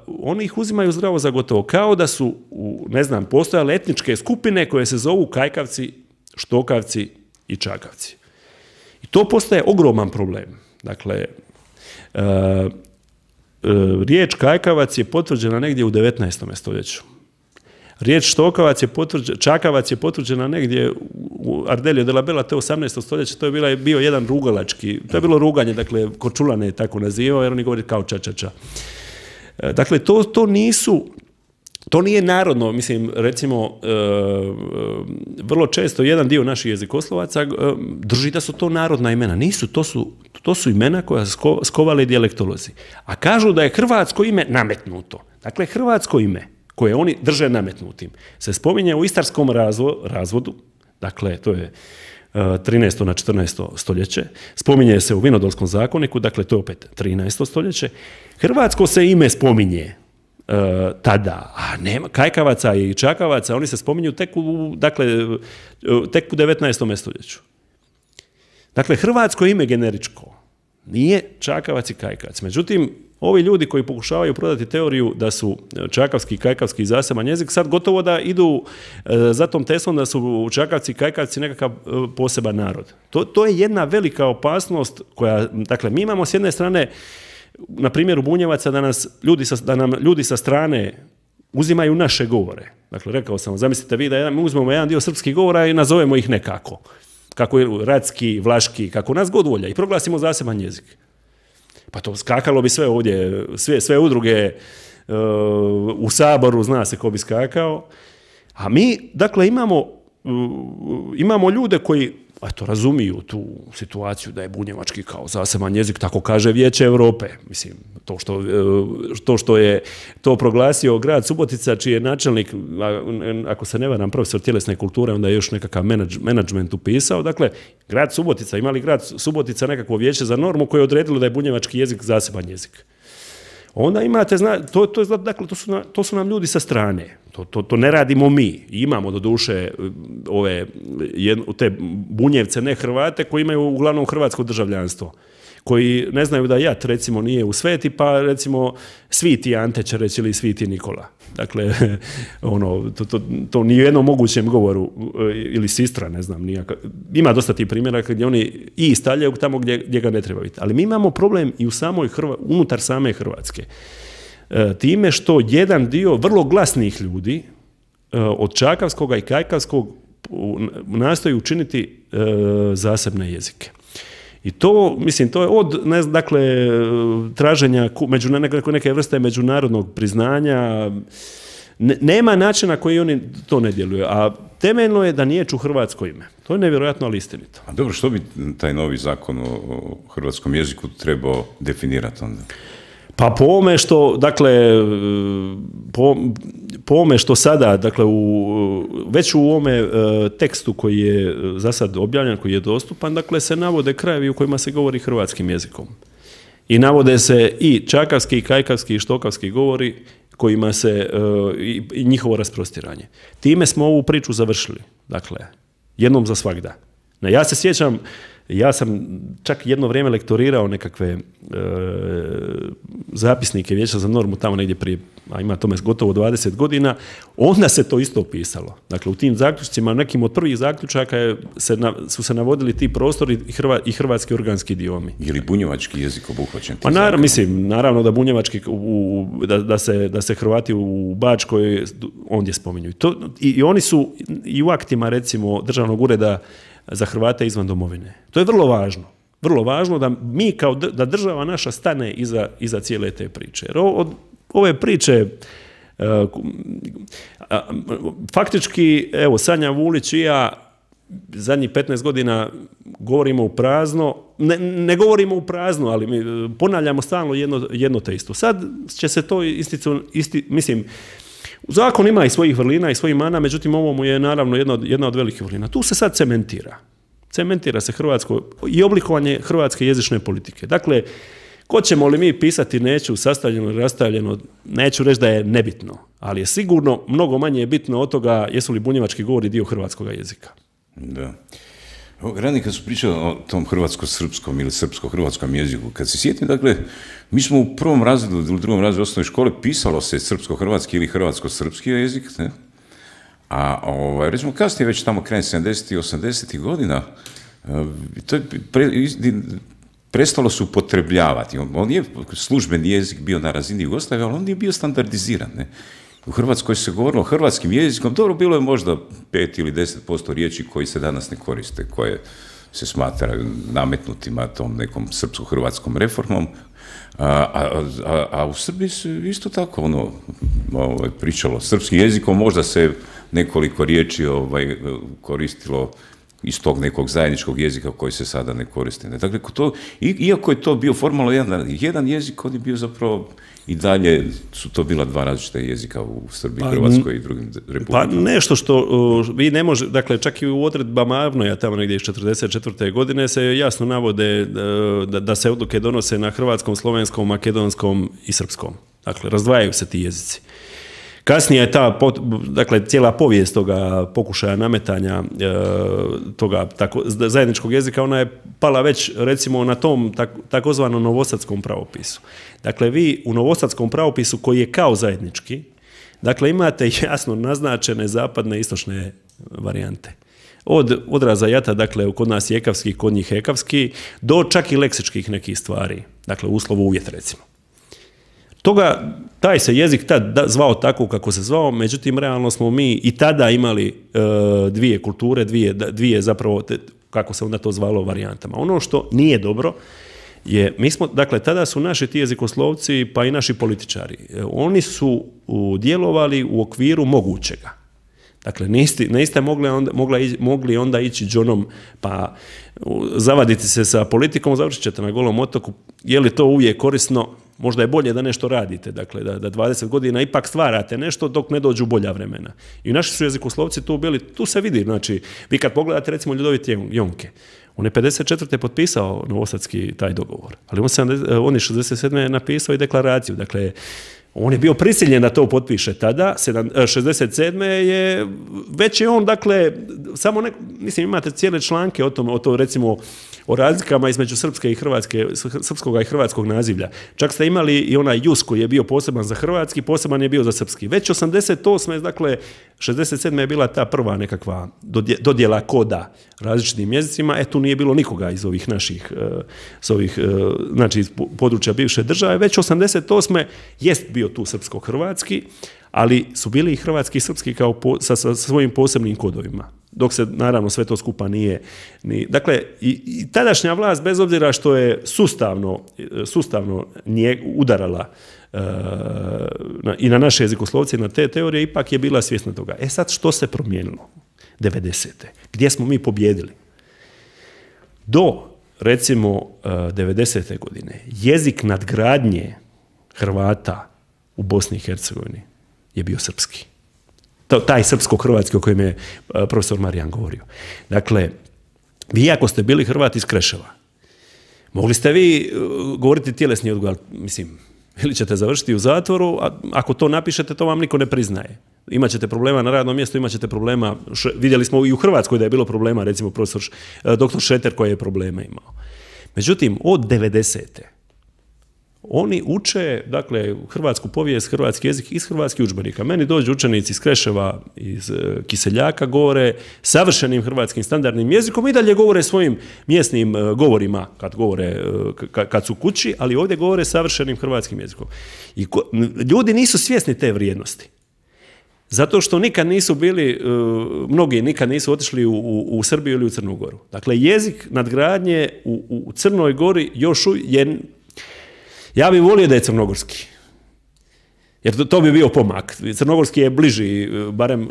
oni ih uzimaju zdravo za gotovo, kao da su, u, ne znam, postojale etničke skupine koje se zovu kajkavci, štokavci i čakavci. I to postaje ogroman problem. Dakle, uh, riječ kajkavac je potvrđena negdje u devetnaestom stoljeću. Riječ štokavac je potvrđena, čakavac je potvrđena negdje u Ardelio de la Bella, to je osamnaesto stoljeće, to je bila, bio jedan rugalački, to je bilo ruganje, dakle, Korčulane je tako nazivao, jer oni govori kao čačača. Dakle, to, to nisu, to nije narodno, mislim, recimo, e, vrlo često jedan dio naših jezikoslovaca e, drži da su to narodna imena. Nisu, to su, to su imena koja su skovali dijalektolozi. A kažu da je hrvatsko ime nametnuto. Dakle, hrvatsko ime koje oni drže nametnutim se spominje u istarskom razvo, razvodu, dakle, to je trinaesto na četrnaesto stoljeće, spominje se u Vinodolskom zakoniku, dakle, to je opet trinaesto stoljeće. Hrvatsko se ime spominje Uh, tada, a nema kajkavaca i čakavaca, oni se spominju tek u, dakle, tek u devetnaestom stoljeću. Dakle, hrvatsko ime generičko nije čakavac i kajkavac. Međutim, ovi ljudi koji pokušavaju prodati teoriju da su čakavski i kajkavski zaseban jezik, sad gotovo da idu uh, za tom teslom da su čakavci i kajkavci nekakav uh, poseban narod. To, to je jedna velika opasnost koja, dakle, mi imamo s jedne strane na primjeru Bunjevaca da, nas ljudi sa, da nam ljudi sa strane uzimaju naše govore. Dakle, rekao sam, zamislite vi da jedan, mi uzmemo jedan dio srpskih govora i nazovemo ih nekako. Kako je radski, vlaški, kako nas god volja i proglasimo zaseban jezik. Pa to skakalo bi sve ovdje, sve, sve udruge uh, u Saboru, zna se ko bi skakao. A mi, dakle, imamo, uh, imamo ljude koji eto, razumiju tu situaciju da je bunjevački kao zaseban jezik, tako kaže Vijeće Europe. Mislim, to što, to što je to proglasio grad Subotica, čiji je načelnik, ako se ne varam, profesor tjelesne kulture, onda je još nekakav menadžment upisao. Dakle, grad Subotica, imali grad Subotica nekakvo vijeće za normu koje je odredilo da je bunjevački jezik zaseban jezik. Onda imate, zna, to, to, dakle, to, su, na, to su nam ljudi sa strane. To, to, to ne radimo mi. Imamo do duše ove, jedno, te bunjevce, ne Hrvate, koji imaju uglavnom hrvatsko državljanstvo. Koji ne znaju da Jat, recimo, nije u Sveti, pa recimo Sviti Ante će reći ili Sviti Nikola. Dakle, ono, to, to, to ni u jednom mogućem govoru, ili Sistra, ne znam, nijaka. Ima dosta tih primjera gdje oni i stavljaju tamo gdje, gdje ga ne treba biti. Ali mi imamo problem i u samoj Hrva, unutar same Hrvatske. E, time što jedan dio vrlo glasnih ljudi e, od čakavskog i kajkavskog nastoji učiniti e, zasebne jezike. I to, mislim, to je od, ne, dakle, traženja među, neke, neke vrste međunarodnog priznanja, ne, nema načina koji oni to ne djeluju, a temeljno je da nijeću hrvatsko ime. To je nevjerojatno, ali istinito. A dobro, što bi taj novi zakon o hrvatskom jeziku trebao definirati onda? Pa po ovome što, dakle, po, po ovome što sada, dakle, u, već u ovome tekstu koji je za sad objavljen, koji je dostupan, dakle, se navode krajevi u kojima se govori hrvatskim jezikom. I navode se i čakavski, i kajkavski, i štokavski govori kojima se, i, i njihovo rasprostiranje. Time smo ovu priču završili, dakle, jednom za svagda. Ja se sjećam, ja sam čak jedno vrijeme lektorirao nekakve e, zapisnike Vijeća za normu tamo negdje prije, a ima tome gotovo dvadeset godina, onda se to isto opisalo. Dakle, u tim zaključcima, nekim od prvih zaključaka je, se na, su se navodili ti prostori i, hrva, i hrvatski organski idiomi. Je li bunjevački jezik obuhvaćen? Pa naravno, mislim, naravno da bunjevački, u, da, da, se, da se Hrvati u Bačkoj ondje spominju. I, to, i, i oni su i u aktima, recimo, Državnog ureda za Hrvate izvan domovine. To je vrlo važno. Vrlo važno da mi kao da država naša stane iza, iza cijele te priče. Jer od ove priče uh, faktički, evo, Sanja Vulić i ja zadnjih petnaest godina govorimo u prazno, ne, ne govorimo u prazno, ali mi ponavljamo stalno jedno, jedno te isto. Sad će se to isticu, isti, mislim, zakon ima i svojih vrlina i svojih mana, međutim ovo mu je naravno jedna od, jedna od velikih vrlina. Tu se sad cementira. Cementira se hrvatsko i oblikovanje hrvatske jezične politike. Dakle, hoćemo li mi pisati neću, sastavljeno ili rastavljeno, neću reći da je nebitno, ali je sigurno mnogo manje bitno od toga jesu li bunjevački govori dio hrvatskog jezika. Da. Rani, kad su pričali o tom hrvatsko-srpskom ili srpsko-hrvatskom jeziku, kad se sjetim, dakle, mi smo u prvom razredu ili drugom razredu osnovne škole pisalo se srpsko-hrvatski ili hrvatsko-srpski jezik, ne? A ovaj, recimo kasnije, već tamo krajem sedamdesetih i osamdesetih godina, to je pre, prestalo se upotrebljavati. On, on je službeni jezik bio na razini Jugoslavije, ali on nije bio standardiziran, ne? U Hrvatskoj se govorilo hrvatskim jezikom, dobro, bilo je možda pet ili deset posto riječi koji se danas ne koriste, koje se smatraju nametnutima tom nekom srpsko-hrvatskom reformom, a, a, a, a u Srbiji se isto tako ono, ovaj, pričalo srpskim jezikom, možda se nekoliko riječi ovaj, koristilo iz tog nekog zajedničkog jezika koji se sada ne koriste. Dakle, to, iako je to bio formalno jedan, jedan jezik, on je bio zapravo i dalje su to bila dva različita jezika u Srbiji, pa, Hrvatskoj i drugim republikama. Pa nešto što uh, vi ne može, dakle čak i u odredbama Avnoja tamo negdje iz četrdeset četvrte godine se jasno navode uh, da, da se odluke donose na hrvatskom, slovenskom, makedonskom i srpskom. Dakle, razdvajaju se ti jezici. Kasnije je ta, dakle, cijela povijest toga pokušaja nametanja e, toga tako, zajedničkog jezika, ona je pala već, recimo, na tom tak, takozvanom novosadskom pravopisu. Dakle, vi u novosadskom pravopisu, koji je kao zajednički, dakle, imate jasno naznačene zapadne i istočne varijante. Od odraza jata, dakle, kod nas je ekavski, kod njih ekavski, do čak i leksičkih nekih stvari. Dakle, uslov uvjet, recimo. Toga, taj se jezik tad zvao tako kako se zvao, međutim, realno smo mi i tada imali e, dvije kulture, dvije, dvije zapravo, te, kako se onda to zvalo, varijantama. Ono što nije dobro je, mi smo, dakle, tada su naši ti jezikoslovci, pa i naši političari, e, oni su u, djelovali u okviru mogućega. Dakle, niste, niste mogli, onda, mogla, mogli onda ići džonom, pa zavaditi se sa politikom, završit ćete na Golom otoku, je li to uvijek korisno? Možda je bolje da nešto radite, dakle, da, da dvadeset godina ipak stvarate nešto dok ne dođu bolja vremena. I naši su jezikoslovci tu bili, tu se vidi, znači, vi kad pogledate, recimo, Ljudovit Jonke, on je pedeset četvrte potpisao novosadski taj dogovor, ali on, on je šezdeset sedme napisao i deklaraciju, dakle, on je bio prisiljen da to potpiše tada, šezdeset sedme je, već je on, dakle, samo neko, mislim, imate cijele članke o tome, o to, recimo, o razlikama između srpske i hrvatske, srpskog i hrvatskog nazivlja. Čak ste imali i onaj jus koji je bio poseban za hrvatski, poseban je bio za srpski. Već osamdeset osme, dakle, šezdeset sedme je bila ta prva nekakva dodjela koda različitim jezicima, e tu nije bilo nikoga iz ovih naših, iz ovih, znači iz područja bivše države, već osamdeset osme jest bio tu srpsko-hrvatski, ali su bili i hrvatski i srpski kao po, sa, sa svojim posebnim kodovima. Dok se, naravno, sve to skupa nije... Ni, dakle, i, i tadašnja vlast, bez obzira što je sustavno, sustavno nije udarala uh, na, i na naše jezikoslovce i na te teorije, ipak je bila svjesna toga. E sad, što se promijenilo? devedesete. Gdje smo mi pobjedili? Do, recimo, uh, devedesete godine, jezik nadgradnje Hrvata u Bosni i Hercegovini je bio srpski. Taj srpsko-hrvatski o kojem je profesor Marijan govorio. Dakle, vi ako ste bili Hrvat iz Kreševa, mogli ste vi govoriti tjelesni odgoj, mislim, ili ćete završiti u zatvoru, a ako to napišete, to vam niko ne priznaje. Imaćete problema na radnom mjestu, imaćete problema, vidjeli smo i u Hrvatskoj da je bilo problema, recimo profesor doktor Šeter koji je problema imao. Međutim, od devedesete oni uče, dakle, hrvatsku povijest, hrvatski jezik iz hrvatskih udžbenika. Meni dođu učenici iz Kreševa, iz Kiseljaka, govore savršenim hrvatskim standardnim jezikom i dalje govore svojim mjesnim govorima kad govore, kad su kući, ali ovdje govore savršenim hrvatskim jezikom. I ko, ljudi nisu svjesni te vrijednosti. Zato što nikad nisu bili, mnogi nikad nisu otišli u, u, u Srbiju ili u Crnu Goru. Dakle, jezik nadgradnje u, u Crnoj Gori još je... Ja bih volio da je crnogorski, jer to, to bi bio pomak. Crnogorski je bliži, barem,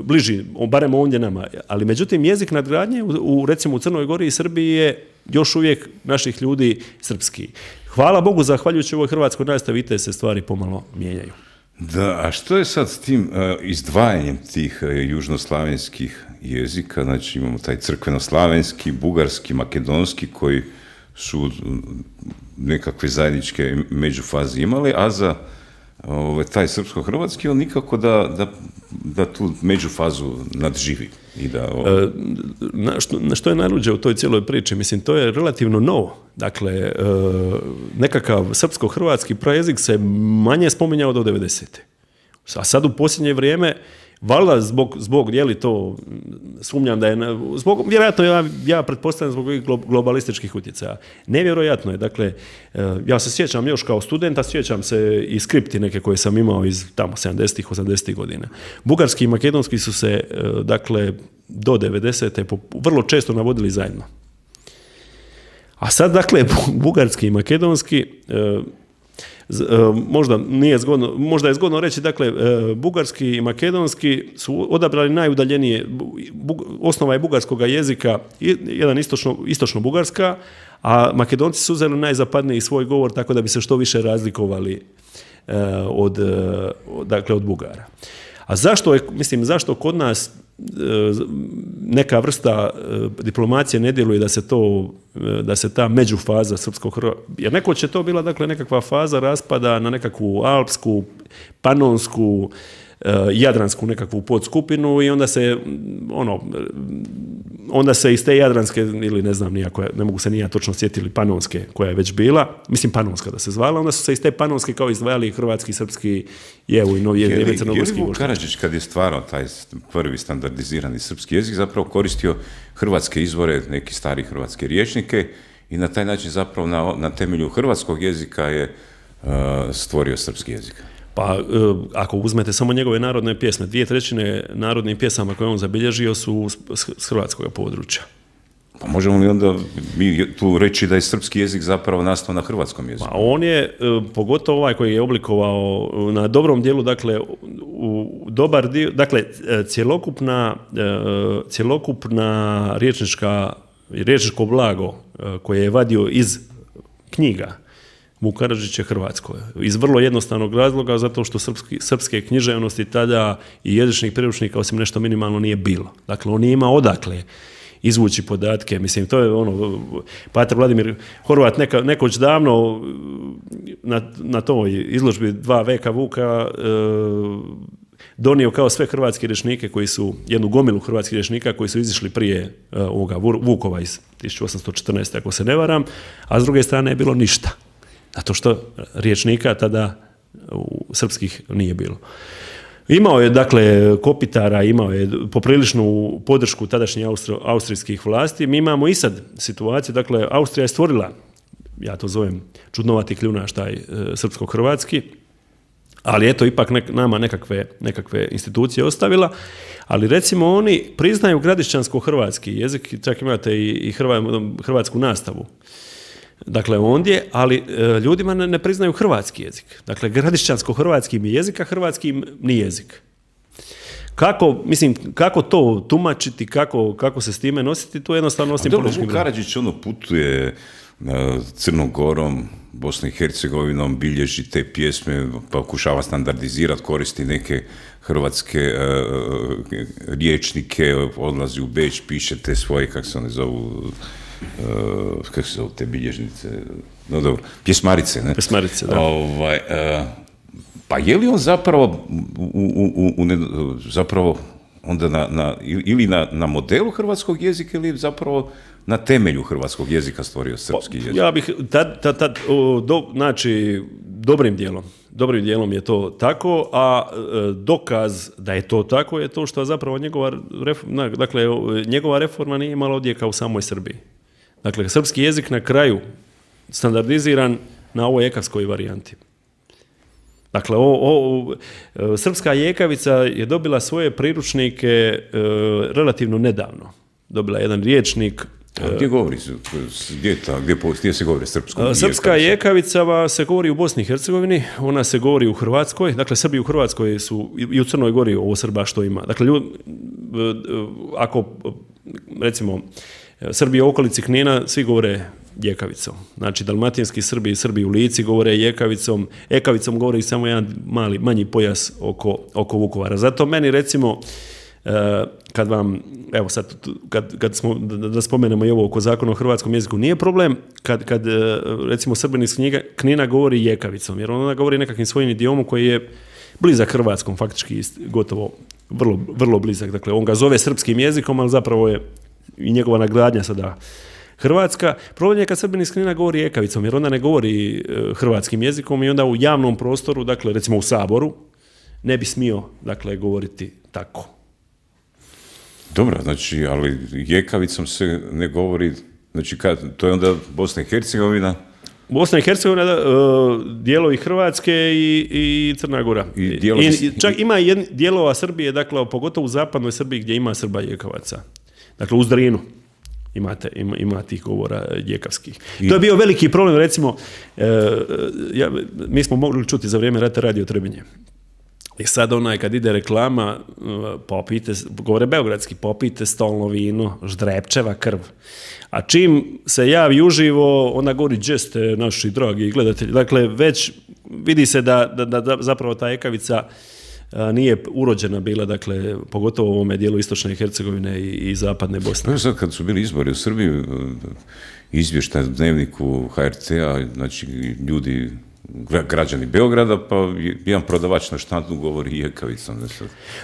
bliži, barem ovdje nama, ali međutim jezik nadgradnje u, u, recimo u Crnoj Gori i Srbiji je još uvijek naših ljudi srpski. Hvala Bogu, zahvaljujući ovoj hrvatskoj nastavi, te se stvari pomalo mijenjaju. Da, a što je sad s tim uh, izdvajanjem tih uh, južnoslavenskih jezika? Znači imamo taj crkvenoslavenski, bugarski, makedonski koji su nekakve zajedničke međufaze imali, a za ove, taj srpsko-hrvatski on nikako da, da, da tu međufazu nadživi. I da, e, na, što, na što je najluđe u toj cijeloj priči? Mislim, to je relativno novo. Dakle, e, nekakav srpsko-hrvatski prajezik se manje spominjao do devedesete. A sad u posljednje vrijeme valjda zbog, zbog, je li to, sumnjam da je, zbog, vjerojatno ja, ja pretpostavljam zbog ovih globalističkih utjecaja. Nevjerojatno je, dakle, ja se sjećam još kao studenta, sjećam se i skripti neke koje sam imao iz tamo sedamdesetih, osamdesetih godina. Bugarski i makedonski su se, dakle, do devedesete vrlo često navodili zajedno. A sad, dakle, bugarski i makedonski, možda nije zgodno, možda je zgodno reći, dakle, bugarski i makedonski su odabrali najudaljenije, osnova je bugarskog jezika, jedan istočno, istočno bugarska, a Makedonci su uzeli najzapadniji svoj govor tako da bi se što više razlikovali od, dakle, od Bugara. A zašto je, mislim, zašto kod nas neka vrsta diplomacije ne djeluje da se to, da se ta međufaza srpsko-hrvatska, jer neko će to bila, dakle, nekakva faza raspada na nekakvu alpsku, panonsku, jadransku nekakvu podskupinu i onda se ono onda se iz te jadranske ili ne znam nijako, ne mogu se ni ja točno sjetiti, panonske koja je već bila, mislim panonska da se zvala, onda su se iz te panonske kao izdvajali hrvatski, srpski, jevu i novi jezik, crnogorski. Je li Vuk Karadžić kad je stvarao taj prvi standardizirani srpski jezik zapravo koristio hrvatske izvore, neki stari hrvatske rječnike i na taj način zapravo na, na temelju hrvatskog jezika je uh, stvorio srpski jezik? Pa, ako uzmete samo njegove narodne pjesme, dvije trećine narodnih pjesama koje on zabilježio su s hrvatskog područja. Pa možemo li onda mi tu reći da je srpski jezik zapravo nastao na hrvatskom jeziku? Pa on je, pogotovo ovaj koji je oblikovao na dobrom dijelu, dakle, u dobar dio, dakle, cjelokupna, cjelokupna riječnička, riječničko blago koje je vadio iz knjiga, Vuk Karadžić je hrvatsko. Iz vrlo jednostavnog razloga, zato što srpski, srpske književnosti tada i jezičnih priručnika osim nešto minimalno nije bilo. Dakle, on nije imao odakle izvući podatke. Mislim, to je ono, pater Vladimir Horvat neka, nekoć davno na, na toj izložbi dva veka Vuka e, donio kao sve hrvatske rječnike koji su, jednu gomilu hrvatskih rječnika koji su izišli prije e, ovoga Vukova iz tisuću osamsto četrnaeste. ako se ne varam, a s druge strane je bilo ništa. Zato što riječnika tada u srpskih nije bilo. Imao je, dakle, kopitara, imao je popriličnu podršku tadašnjih austro, austrijskih vlasti. Mi imamo i sad situaciju, dakle, Austrija je stvorila, ja to zovem čudnovati kljunaš, taj e, srpsko-hrvatski, ali eto, ipak nek, nama nekakve, nekakve institucije ostavila, ali recimo oni priznaju gradišćansko-hrvatski jezik, čak imate i, i hrva, hrvatsku nastavu. Dakle, ondje, ali e, ljudima ne, ne priznaju hrvatski jezik. Dakle, gradišćansko-hrvatski mi jezik, a hrvatski ni jezik. Kako, mislim, kako to tumačiti, kako, kako se s time nositi, to jednostavno osim političkim... Vuk Karadžić ono putuje Crnom Gorom, Bosnom i Hercegovinom, bilježi te pjesme, pokušava standardizirati, koristi neke hrvatske uh, riječnike, odlazi u Beč, piše te svoje, kako se one zovu, uh, kako se zovu te bilježnice, no dobro, pjesmarice, ne? Pjesmarice, da. Ovaj, uh, pa je li on zapravo, u, u, u, u, zapravo onda na, na, ili na, na modelu hrvatskog jezika ili zapravo na temelju hrvatskog jezika stvorio srpski jezik? Ja bih, tad, tad, tad, o, do, znači, dobrim dijelom, dobrim dijelom je to tako, a e, dokaz da je to tako je to što zapravo njegova, reforma, dakle, njegova reforma nije imala odjeka u samoj Srbiji. Dakle, srpski jezik na kraju standardiziran na ovoj ekavskoj varijanti. Dakle, o, o, o, srpska jekavica je dobila svoje priručnike e, relativno nedavno. Dobila jedan riječnik. A gdje govori, gdje, ta, gdje, gdje se govori srpskom? Srpska jekavica se govori u Bosni i Hercegovini, ona se govori u Hrvatskoj, dakle Srbi u Hrvatskoj su i u Crnoj Gori ovo Srba što ima. Dakle, ljud, ako recimo Srbi u okolici Knina, svi govore jekavicom. Znači, dalmatinski Srbi i Srbi u Lici govore jekavicom, ekavicom govori samo jedan mali, manji pojas oko, oko Vukovara. Zato meni recimo, kad vam, evo sad, kad, kad smo, da, da spomenemo i ovo oko zakona o hrvatskom jeziku, nije problem kad, kad recimo Srbin iz Knina govori jekavicom, jer ona govori nekakvim svojim idiomom koji je blizak hrvatskom, faktički gotovo vrlo, vrlo blizak. Dakle, on ga zove srpskim jezikom, ali zapravo je i njegova nagradnja sada hrvatska. Problem je kad Srbin iz Knina govori jekavicom, jer onda ne govori hrvatskim jezikom i onda u javnom prostoru, dakle recimo u Saboru, ne bi smio, dakle, govoriti tako. Dobro, znači, ali jekavicom se ne govori, znači, kad, to je onda Bosna i Hercegovina? Bosna i Hercegovina, uh, dijelovi Hrvatske i, i Crna Gora. I, I čak ima jedn, dijelova Srbije, dakle, pogotovo u zapadnoj Srbiji gdje ima Srba jekavaca. Dakle, u Zdrinu imate, ima, ima tih govora jekavskih. I... To je bio veliki problem, recimo, uh, ja, mi smo mogli čuti za vrijeme rata Radio Trebinje. I sad onaj kad ide reklama, popite, govore beogradski, popite stolno vino, ždrepčeva krv. A čim se javi uživo, ona govori džeste naši dragi gledatelji. Dakle, već vidi se da, da, da zapravo ta ekavica nije urođena bila, dakle, pogotovo u ovome dijelu istočne Hercegovine i, i zapadne Bosne. Pa sad kad su bili izbori u Srbiji, izvještaj u dnevniku ha er te-a, znači ljudi, građani Beograda, pa jedan prodavač na štandu govori jekavicom.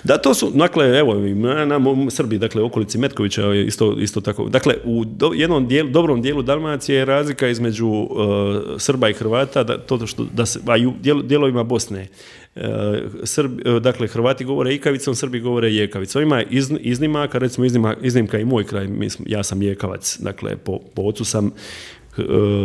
Da, to su, dakle, evo, na, na Srbiji, dakle, okolici Metkovića je isto, isto tako. Dakle, u do, jednom dijelu, dobrom dijelu Dalmacije je razlika između uh, Srba i Hrvata, da, to što, da se, a i u dijel, dijelovima Bosne. Uh, Srbi, uh, dakle, Hrvati govore ikavicom, Srbi govore jekavicom. Ima iz, iznimaka, recimo iznima, iznimka i moj kraj, mislim, ja sam jekavac, dakle, po, po ocu sam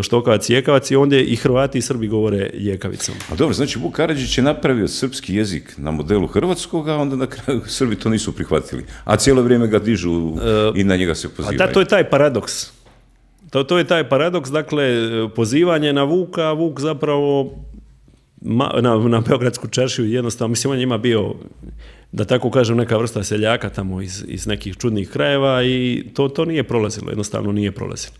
Štokavac i jekavac i onda i Hrvati i Srbi govore jekavicom. A dobro, znači Vuk Karadžić je napravio srpski jezik na modelu hrvatskog, a onda na kraju Srbi to nisu prihvatili. A cijelo vrijeme ga dižu uh, i na njega se pozivaju. A da, to je taj paradoks. To, to je taj paradoks, dakle, pozivanje na Vuka, a Vuk zapravo ma, na, na Beogradsku čaršiju jednostavno, mislim, on je njima bio, da tako kažem, neka vrsta seljaka tamo iz, iz nekih čudnih krajeva i to, to nije prolazilo, jednostavno nije prolazilo.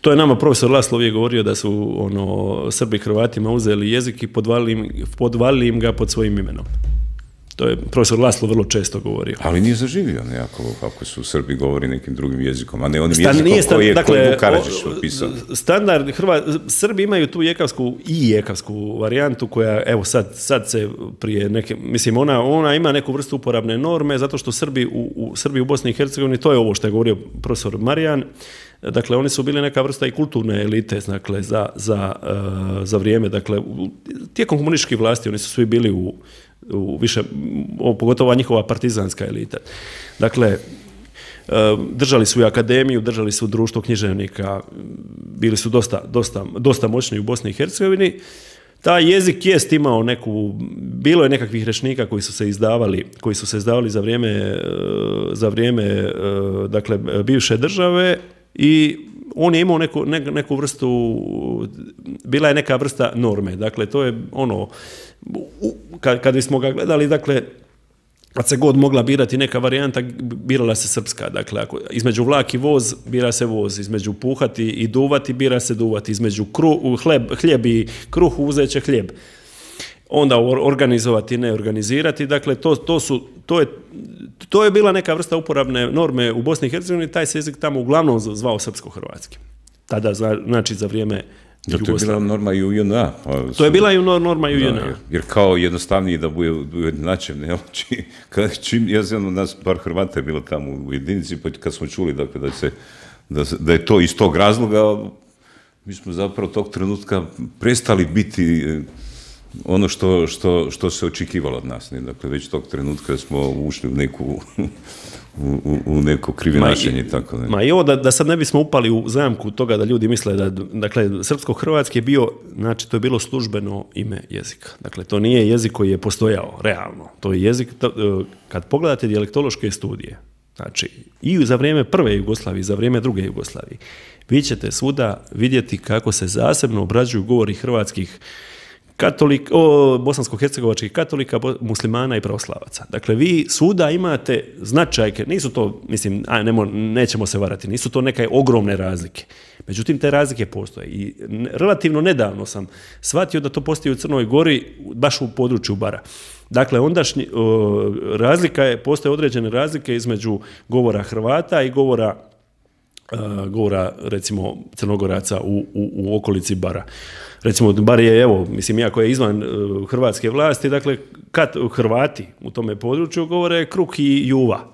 To je nama profesor Laslo uvijek govorio da su ono, Srbi Hrvatima uzeli jezik i podvalili im, podvalili im ga pod svojim imenom. To je profesor Laslo vrlo često govorio. Ali nije zaživio nekako kako su Srbi govori nekim drugim jezikom, a ne onim Stan, jezikom stand, koji je dakle, Vuk Karadžić napisao. Standard, Hrvat, Srbi imaju tu jekavsku i jekavsku varijantu koja, evo sad, sad se prije neke, mislim, ona, ona ima neku vrstu uporabne norme, zato što Srbi u, u, Srbi u Bosni i Hercegovini, to je ovo što je govorio profesor Marijan, dakle, oni su bili neka vrsta i kulturne elite, dakle, za, za, uh, za vrijeme, dakle, u, tijekom komunističkih vlasti, oni su svi bili u, u više, o, pogotovo njihova partizanska elita. Dakle, uh, držali su i akademiju, držali su društvo književnika, bili su dosta, dosta, dosta moćni u Bosni i Hercegovini. Taj jezik jest imao neku, bilo je nekakvih rečnika koji su se izdavali, koji su se izdavali za vrijeme, uh, za vrijeme uh, dakle, bivše države, i on je imao neku, ne, neku vrstu, bila je neka vrsta norme, dakle to je ono, u, kad, kad bismo ga gledali, dakle kad se god mogla birati neka varijanta, birala se srpska. Dakle, ako između vlak i voz, bira se voz. Između puhati i duvati, bira se duvati. Između kru, hleb, hljeb i kruh, uzet će hljeb. Onda organizovati, ne organizirati. Dakle, to, to, su, to, je, to je bila neka vrsta uporabne norme u Bosni i Hercegovini. Taj se jezik tamo uglavnom zvao srpsko-hrvatski. Tada, znači, za vrijeme Jugoslavije. To je bila norma i u J N A. Pa, to je bila i norma i u J N A. Jer, jer kao jednostavnije da bude ujednačen. Čim ja znam, nas par Hrvata je bilo tamo u jedinici, pa kad smo čuli dakle, da, se, da, da je to iz tog razloga, mi smo zapravo tog trenutka prestali biti ono što, što, što se očekivalo od nas. Ne? Dakle, već tog trenutka smo ušli u neku... U, u, u neko krivinačenje. Tako ne. Ma i ovo da, da sad ne bismo upali u zamku toga da ljudi misle da, dakle, srpsko-hrvatski je bio, znači to je bilo službeno ime jezika. Dakle, to nije jezik koji je postojao, realno. To je jezik, to, kad pogledate dijalektološke studije, znači i za vrijeme prve Jugoslavije i za vrijeme druge Jugoslavije, vi ćete svuda vidjeti kako se zasebno obrađuju govori hrvatskih katolik, o, bosansko-hercegovačkih katolika, muslimana i pravoslavaca. Dakle, vi svuda imate značajke, nisu to, mislim, a, nemo, nećemo se varati, nisu to neke ogromne razlike. Međutim, te razlike postoje. I relativno nedavno sam shvatio da to postoji u Crnoj Gori, baš u području Bara. Dakle, ondašnji, o, razlika je, postoje određene razlike između govora Hrvata i govora, a, govora recimo, Crnogoraca u, u, u okolici Bara. Recimo, bar je, evo, mislim, iako je izvan uh, hrvatske vlasti, dakle, kad Hrvati u tome području govore kruh i juva.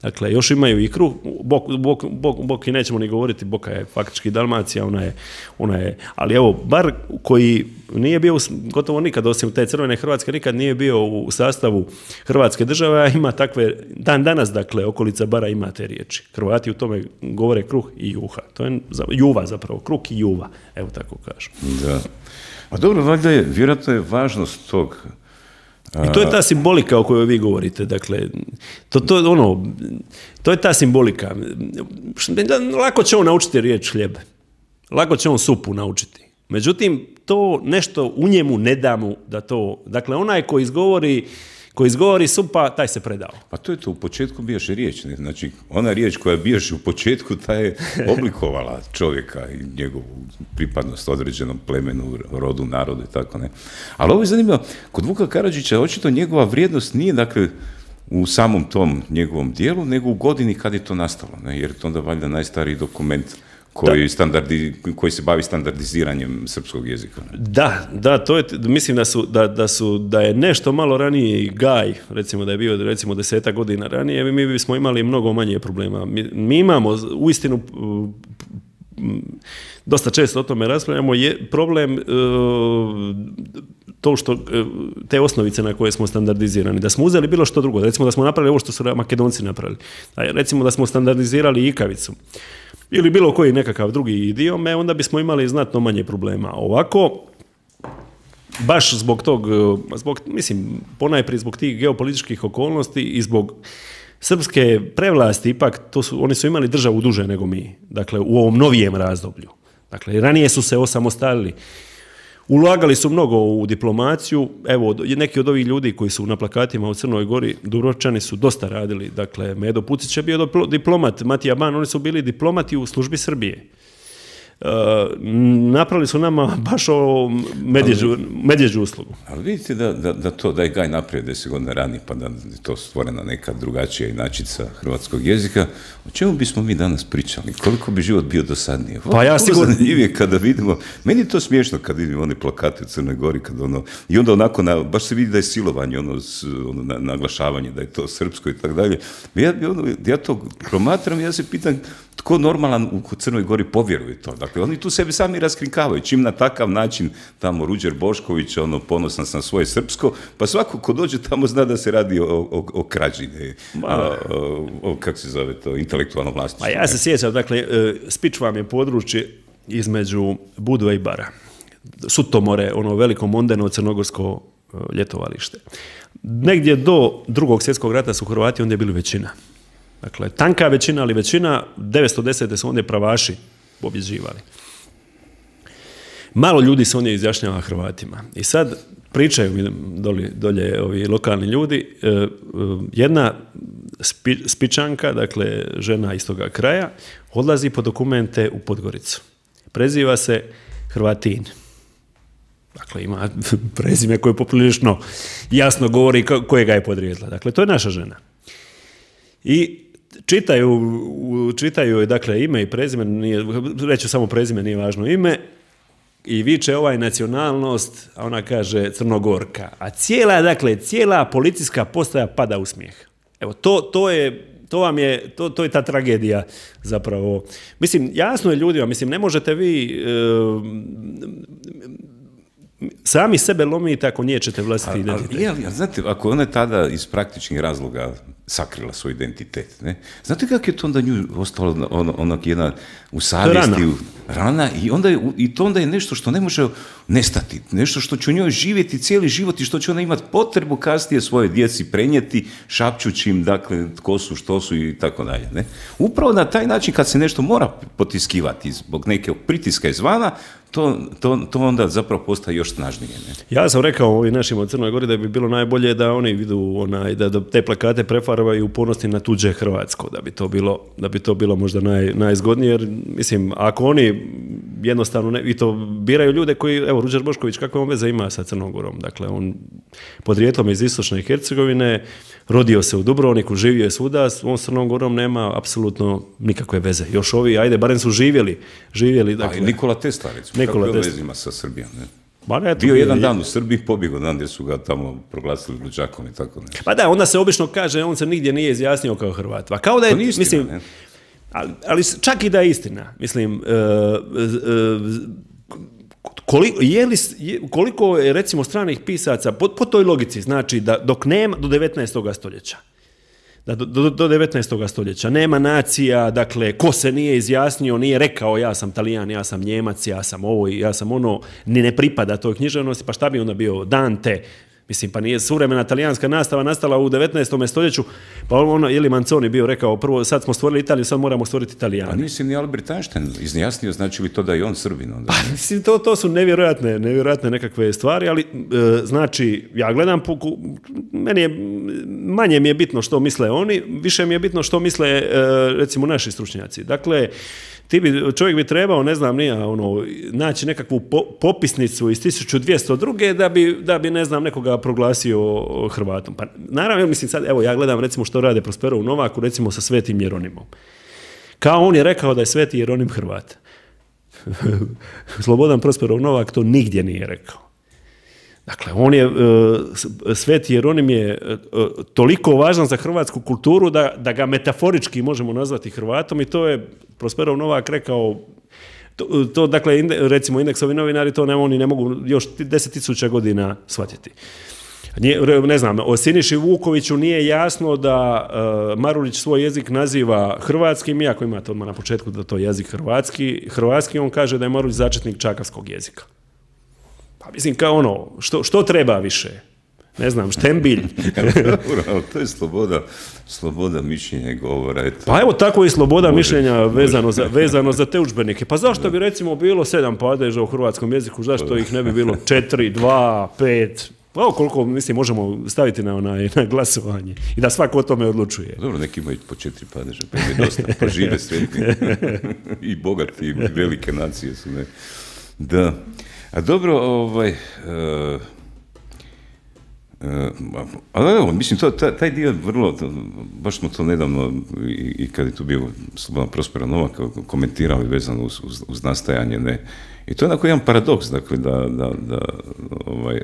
Dakle, još imaju i kruh, bok, bok, bok, bok i nećemo ni govoriti, Boka je faktički Dalmacija, ona je, ona je, ali evo, bar koji nije bio gotovo nikad, osim te crvene Hrvatske, nikad nije bio u sastavu Hrvatske države, a ima takve, dan danas, dakle, okolica Bara ima te riječi. Hrvati u tome govore kruh i juha. To je juva zapravo, kruh i juva, evo tako kažu. Da. A dobro, valjda je, vjerojatno je važnost tog. I to je ta simbolika o kojoj vi govorite, dakle, to, to, ono, to je ta simbolika. Lako će on naučiti riječ hljeb, lako će on supu naučiti. Međutim, to nešto u njemu ne da mu da to, dakle, onaj ko izgovori, ko izgovori supa, taj se predao. Pa to je to, u početku bijaše riječ, ne? Znači, ona riječ koja bijaše u početku, ta je oblikovala čovjeka i njegovu pripadnost određenom plemenu, rodu, narodu i tako ne. Ali ovo je zanimljivo, kod Vuka Karadžića očito njegova vrijednost nije, dakle, u samom tom njegovom dijelu, nego u godini kad je to nastalo, ne? Jer je to onda valjda najstariji dokument koji, standardi, koji se bavi standardiziranjem srpskog jezika. Da, da, to je, mislim da su, da, da su, da je nešto malo ranije Gaj, recimo da je bio recimo desetak godina ranije, mi bismo imali mnogo manje problema. Mi, mi imamo uistinu dosta često o tome raspravljamo, je problem uh, to što uh, te osnovice na koje smo standardizirani, da smo uzeli bilo što drugo, recimo da smo napravili ovo što su Makedonci napravili, recimo da smo standardizirali ikavicu, ili bilo koji nekakav drugi idiom, onda bismo imali znatno manje problema. Ovako, baš zbog tog, zbog, mislim, ponajprije zbog tih geopolitičkih okolnosti i zbog srpske prevlasti, ipak to su, oni su imali državu duže nego mi, dakle, u ovom novijem razdoblju. Dakle, ranije su se osamostalili. Ulagali su mnogo u diplomaciju, evo, neki od ovih ljudi koji su na plakatima u Crnoj Gori, Dubrovčani, su dosta radili, dakle, Medo Pucić je bio diplomat, Matija Ban, oni su bili diplomati u službi Srbije. Uh, napravili su nama baš o medjeđu, medjeđu uslugu. Ali vidite da, da, da to, da je Gaj napravio deset godina ranije, pa da je to stvorena neka drugačija inačica hrvatskog jezika, o čemu bismo mi danas pričali? Koliko bi život bio dosadnije? Pa ja sigurno... Zanimljivije kada vidimo, meni je to smiješno kad vidimo one plakate u Crnoj Gori, kad ono, i onda onako, na, baš se vidi da je silovanje, ono, ono na, naglašavanje, da je to srpsko i tako dalje. Ja, ono, ja to promatram, ja se pitam tko normalan u Crnoj Gori povjeruje to. Dakle, oni tu sebi sami raskrinkavaju. Čim na takav način tamo Ruđer Bošković, ono, ponosan sam svoje srpsko, pa svako ko dođe tamo zna da se radi o, o, o krađi, ne, a, o, o, kako se zove to, intelektualno vlasništvo. A ja se sjećam, dakle, Spič vam je područje između Budve i Bara. Sutomore, ono veliko mondeno crnogorsko ljetovalište. Negdje do drugog svjetskog rata su Hrvati ondje bili većina. Dakle, tanka većina, ali većina, devetsto desete su ondje pravaši pobjeđivali. Malo ljudi se ondje izjašnjava Hrvatima. I sad, pričaju mi dolje, dolje ovi lokalni ljudi, jedna spi, spičanka, dakle žena iz toga kraja, odlazi po dokumente u Podgoricu. Preziva se Hrvatin. Dakle, ima prezime koje poprilično jasno govori kojega je podrijetla. Dakle, to je naša žena. I čitaju, čitaju dakle, ime i prezime, nije, reću samo prezime, nije važno ime, i viče ovaj nacionalnost, a ona kaže Crnogorka. A cijela, dakle, cijela policijska postaja pada u smijeh. Evo, to, to je, to vam je, to, to je ta tragedija zapravo. Mislim, jasno je ljudima, mislim, ne možete vi e, sami sebe lomite ako niječete vlastiti identitet. Ali, ali, ali, znate, ako ona je tada iz praktičnih razloga sakrila svoj identitet, ne? Znate kako je to onda nju ostalo on, onak jedna u savjesti, rana. rana i, onda je, i to onda je nešto što ne može nestati, nešto što će u njoj živjeti cijeli život i što će ona imati potrebu kasnije svoje djeci prenijeti, šapćući im, dakle, tko su, što su i tako dalje. Ne? Upravo na taj način kad se nešto mora potiskivati zbog nekog pritiska izvana, To, to, to onda zapravo postaje još snažnije. Ne? Ja sam rekao ovim našim od Crnoj Gori da bi bilo najbolje da oni vidu onaj, da, da te plakate prefarbaju u ponosti na tuđe Hrvatsko, da bi to bilo, da bi to bilo možda naj, najzgodnije, jer mislim, ako oni jednostavno ne, i to biraju ljude koji, evo, Ruđer Bošković, kakve on veze ima sa Crnom Gorom? Dakle, on podrijetlom iz istočne Hercegovine, rodio se u Dubrovniku, živio je svuda, on s Crnom Gorom nema apsolutno nikakve veze. Još ovi, ajde, barem su živjeli. živjeli dakle, a Nikola Tesla, recimo, Nikola kako je Tesla. vezima sa Srbijom, ne? Ba ne, bio je, jedan je, dan u Srbiji, pobjegao dan gdje su ga tamo proglasili luđakom i tako ne. Pa da, onda se obično kaže, on se nigdje nije izjasnio kao Hrvat. Pa kao da je, istina, mislim, ne? ali, ali čak i da je istina, mislim, uh, uh, koliko, je li, je, koliko je recimo stranih pisaca, po, po toj logici, znači da dok nema, do devetnaestog stoljeća, da do, do, do devetnaestog stoljeća nema nacija, dakle, ko se nije izjasnio, nije rekao ja sam Talijan, ja sam Njemac, ja sam ovo i ja sam ono, ni ne pripada toj književnosti, pa šta bi onda bio Dante? Mislim, pa nije suvremena talijanska nastava nastala u devetnaestom stoljeću, pa ono, je li Manzoni bio rekao, prvo sad smo stvorili Italiju, sad moramo stvoriti Italijane. A nisi ni Albert Einstein izjasnio, znači li to da je on Srbin onda? Pa, mislim, to, to su nevjerojatne, nevjerojatne nekakve stvari, ali e, znači, ja gledam, po, meni je, manje mi je bitno što misle oni, više mi je bitno što misle, e, recimo, naši stručnjaci. Dakle, ti bi, čovjek bi trebao, ne znam, nija, ono, naći nekakvu po, popisnicu iz tisuću dvjesto druge da bi, da bi, ne znam, nekoga proglasio Hrvatom. Pa, naravno, mislim sad, evo, ja gledam, recimo, što rade Prospero u Novaku, recimo, sa Svetim Jeronimom. Kao on je rekao da je Sveti Jeronim Hrvat. Slobodan Prosperov Novak to nigdje nije rekao. Dakle, on je, Sveti Jeronim je toliko važan za hrvatsku kulturu da, da ga metaforički možemo nazvati Hrvatom i to je Prosperov Novak rekao, to, to dakle, inde, recimo Indeksovi novinari to ne, oni ne mogu još deset tisuća godina shvatiti. Ne znam, o Siniši Vukoviću nije jasno da uh, Marulić svoj jezik naziva hrvatskim, iako imate odmah na početku da to je jezik hrvatski, hrvatski, on kaže da je Marulić začetnik čakavskog jezika. Pa mislim, kao ono, što, što treba više? Ne znam, štembilj. Dobro, to je sloboda, sloboda mišljenja i govora. Eto. Pa evo tako i sloboda može, mišljenja vezano, može. Za, vezano za te udžbenike. Pa zašto bi recimo bilo sedam padeža u hrvatskom jeziku, zašto ih ne bi bilo četiri, dva, pet... Pa koliko, mislim, možemo staviti na, onaj, na glasovanje i da svako o tome odlučuje. Dobro, neki imaju po četiri padeža, pa je dosta, pa žive sretni i bogati i velike nacije su, ne. Da. A dobro, ovaj... Uh, uh, ali evo, mislim, to, taj, taj dio vrlo, to, baš smo to nedavno, i, i kad je tu bio Slobodan Prospero Novak, komentirali vezano uz, uz, uz nastajanje, ne. I to je onako jedan paradoks, dakle, da, da, da ovaj...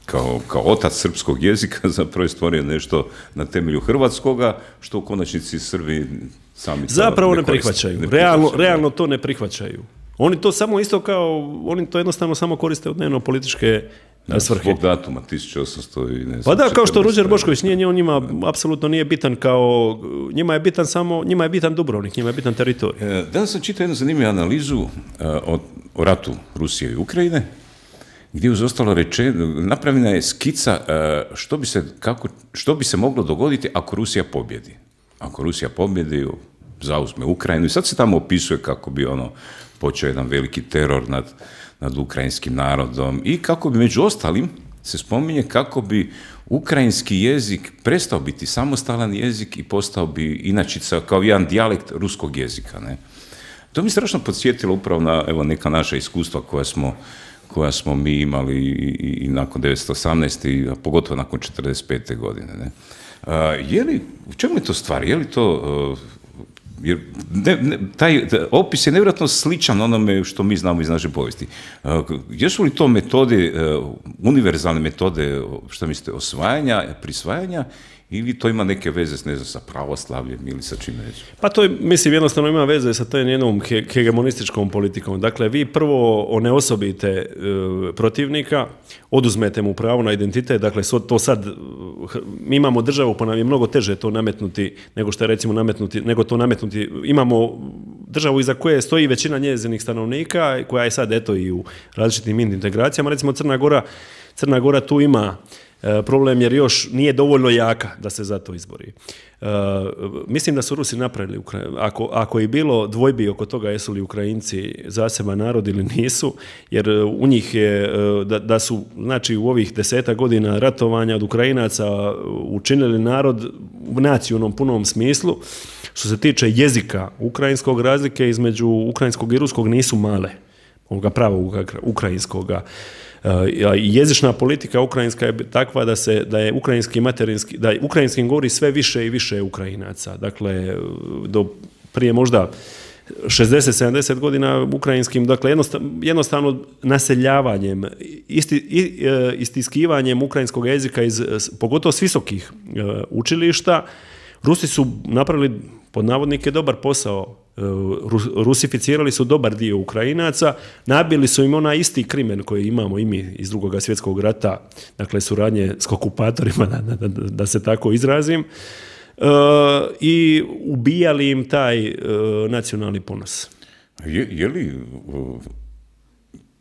Kao, kao otac srpskog jezika zapravo je stvorio nešto na temelju hrvatskoga, što u konačnici Srbi sami zapravo ne, ne prihvaćaju. Ne realno, prihvaćaju. Realno to ne prihvaćaju. Oni to samo isto kao, oni to jednostavno samo koriste u dnevno političke da, svrhe. Zbog datuma, tisuću osamsto i ne znam. Pa da, kao što Ruđer Bošković nije, on njima apsolutno nije bitan kao, njima je bitan samo, njima je bitan Dubrovnik, njima je bitan teritorij. E, danas sam čitao jednu zanimljivu analizu uh, o, o ratu Rusije i Ukrajine, gdje uz ostalo reče, napravljena je skica uh, što bi se, kako, što bi se moglo dogoditi ako Rusija pobjedi. Ako Rusija pobjedi, zauzme Ukrajinu i sad se tamo opisuje kako bi ono počeo jedan veliki teror nad, nad ukrajinskim narodom i kako bi među ostalim se spominje kako bi ukrajinski jezik prestao biti samostalan jezik i postao bi inačica kao jedan dijalekt ruskog jezika. Ne? To mi strašno podsjetilo upravo na evo, neka naša iskustva koja smo, koja smo mi imali i, i nakon devetnaeste osamnaeste. a pogotovo nakon četrdeset pete godine. Ne? A, je li, u čemu je to stvar? Je li to... Uh, jer ne, ne, taj opis je nevjerojatno sličan onome što mi znamo iz naše povijesti. Uh, jesu li to metode, uh, univerzalne metode, što mislite, osvajanja, prisvajanja, ili to ima neke veze ne znam, sa pravoslavljem ili sa čime već? Pa to je, mislim, jednostavno ima veze sa tom jednom he, hegemonističkom politikom. Dakle, vi prvo oneosobite e, protivnika, oduzmete mu pravo na identitet, dakle, to sad, mi imamo državu, pa nam je mnogo teže to nametnuti, nego što je recimo nametnuti, nego to nametnuti, imamo državu iza koje stoji većina njezinih stanovnika, koja je sad, eto, i u različitim integracijama, recimo Crna Gora, Crna Gora tu ima problem jer još nije dovoljno jaka da se za to izbori. Uh, mislim da su Rusi napravili, ako, ako je bilo dvojbi oko toga jesu li Ukrajinci zaseban narod ili nisu, jer u njih je, da, da su znači u ovih deseta godina ratovanja od Ukrajinaca učinili narod u nacionalnom punom smislu. Što se tiče jezika ukrajinskog, razlike između ukrajinskog i ruskog nisu male, ovoga pravog ukrajinskoga. Jezična politika ukrajinska je takva da se da je ukrajinski materinski da je ukrajinskim govori sve više i više Ukrajinaca. Dakle, do prije možda šezdeset sedamdeset godina ukrajinskim, dakle jednostavno, jednostavno naseljavanjem, isti, istiskivanjem ukrajinskog jezika iz pogotovo s visokih učilišta, Rusi su napravili pod navodnike dobar posao. Rusificirali su dobar dio Ukrajinaca, nabili su im onaj isti krimen koji imamo i mi iz drugog svjetskog rata, dakle suradnje s okupatorima, da, da, da se tako izrazim, e, i ubijali im taj e, nacionalni ponos. Je, je li...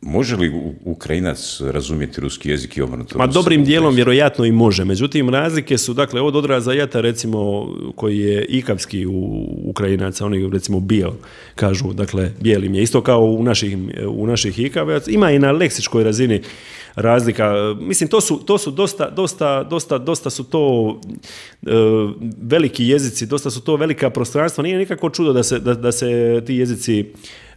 Može li Ukrajinac razumjeti ruski jezik i obrnuto? Ma dobrim dijelom vjerojatno i može. Međutim, razlike su, dakle, od odraza jata, recimo, koji je ikavski u Ukrajinaca, oni recimo bijel, kažu, dakle, bijelim je isto kao u naših, u naših ikavaca. Ima i na leksičkoj razini razlika. Mislim, to su, to su dosta, dosta, dosta, dosta su to e, veliki jezici, dosta su to velika prostranstva. Nije nikako čudo da se, da, da se ti jezici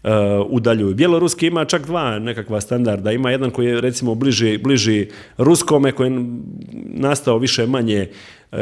Uh, udaljuju. Bjeloruski ima čak dva nekakva standarda. Ima jedan koji je recimo bliži, bliži ruskome, koji je nastao više manje uh,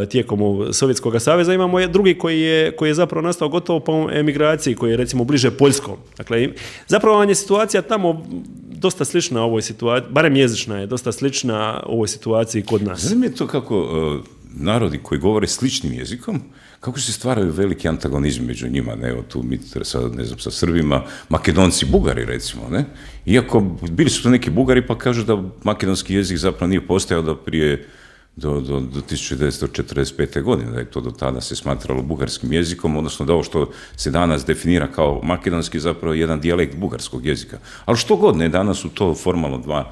tijekom Sovjetskog saveza. Imamo drugi koji je, koji je zapravo nastao gotovo po emigraciji, koji je recimo bliže poljskom. Dakle, zapravo vam je situacija tamo dosta slična ovoj situaciji, barem jezična je dosta slična ovoj situaciji kod nas. Znam je to kako uh, narodi koji govore sličnim jezikom, kako se stvaraju veliki antagonizmi među njima, ne, evo tu mi sad, ne znam, sa Srbima, Makedonci, Bugari recimo, ne, iako bili su to neki Bugari pa kažu da makedonski jezik zapravo nije postojao do prije, do, do, do tisuću devetsto četrdeset pete. godine, da je to do tada se smatralo bugarskim jezikom, odnosno da ovo što se danas definira kao makedonski zapravo jedan dijalekt bugarskog jezika. Ali što god, ne, danas su to formalno dva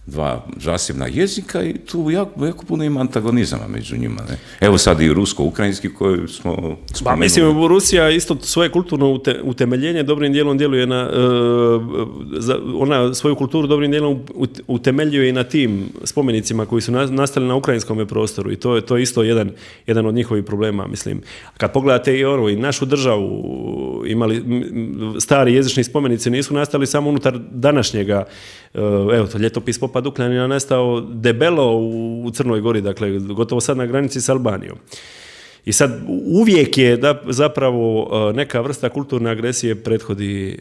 dva zasebna jezika i tu jako, jako puno ima antagonizama među njima. Ne? Evo sad i rusko-ukrajinski koji smo spomenuli. Ba, mislim, Rusija isto svoje kulturno ute, utemeljenje dobrim dijelom djeluje na, uh, za, ona svoju kulturu dobrim dijelom utemeljuje i na tim spomenicima koji su nastali na ukrajinskom prostoru i to je to isto jedan, jedan od njihovih problema, mislim. Kad pogledate i ono, i našu državu, imali stari jezični spomenici nisu nastali samo unutar današnjega, uh, evo, to ljetopis Popa Dukljanina nastao debelo u Crnoj Gori, dakle, gotovo sad na granici s Albanijom. I sad uvijek je da zapravo neka vrsta kulturne agresije prethodi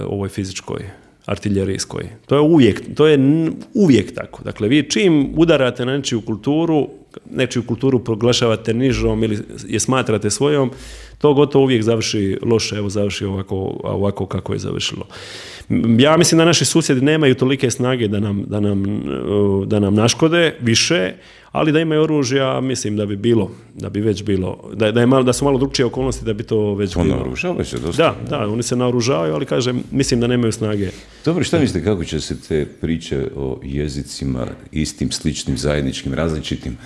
ovoj fizičkoj, artiljerijskoj. To je uvijek, to je uvijek tako. Dakle, vi čim udarate na nečiju kulturu, nečiju kulturu proglašavate nižom ili je smatrate svojom, to gotovo uvijek završi loše, evo završi ovako, ovako kako je završilo. Ja mislim da naši susjedi nemaju tolike snage da nam, da nam, da nam naškode više, ali da imaju oružja, mislim da bi bilo, da bi već bilo, da, da, je malo, da su malo drugčije okolnosti da bi to već to bilo. Naoružavaju se dosta. Da, da, oni se naoružavaju, ali kažem, mislim da nemaju snage. Dobro, šta mislite kako će se te priče o jezicima istim, sličnim, zajedničkim, različitim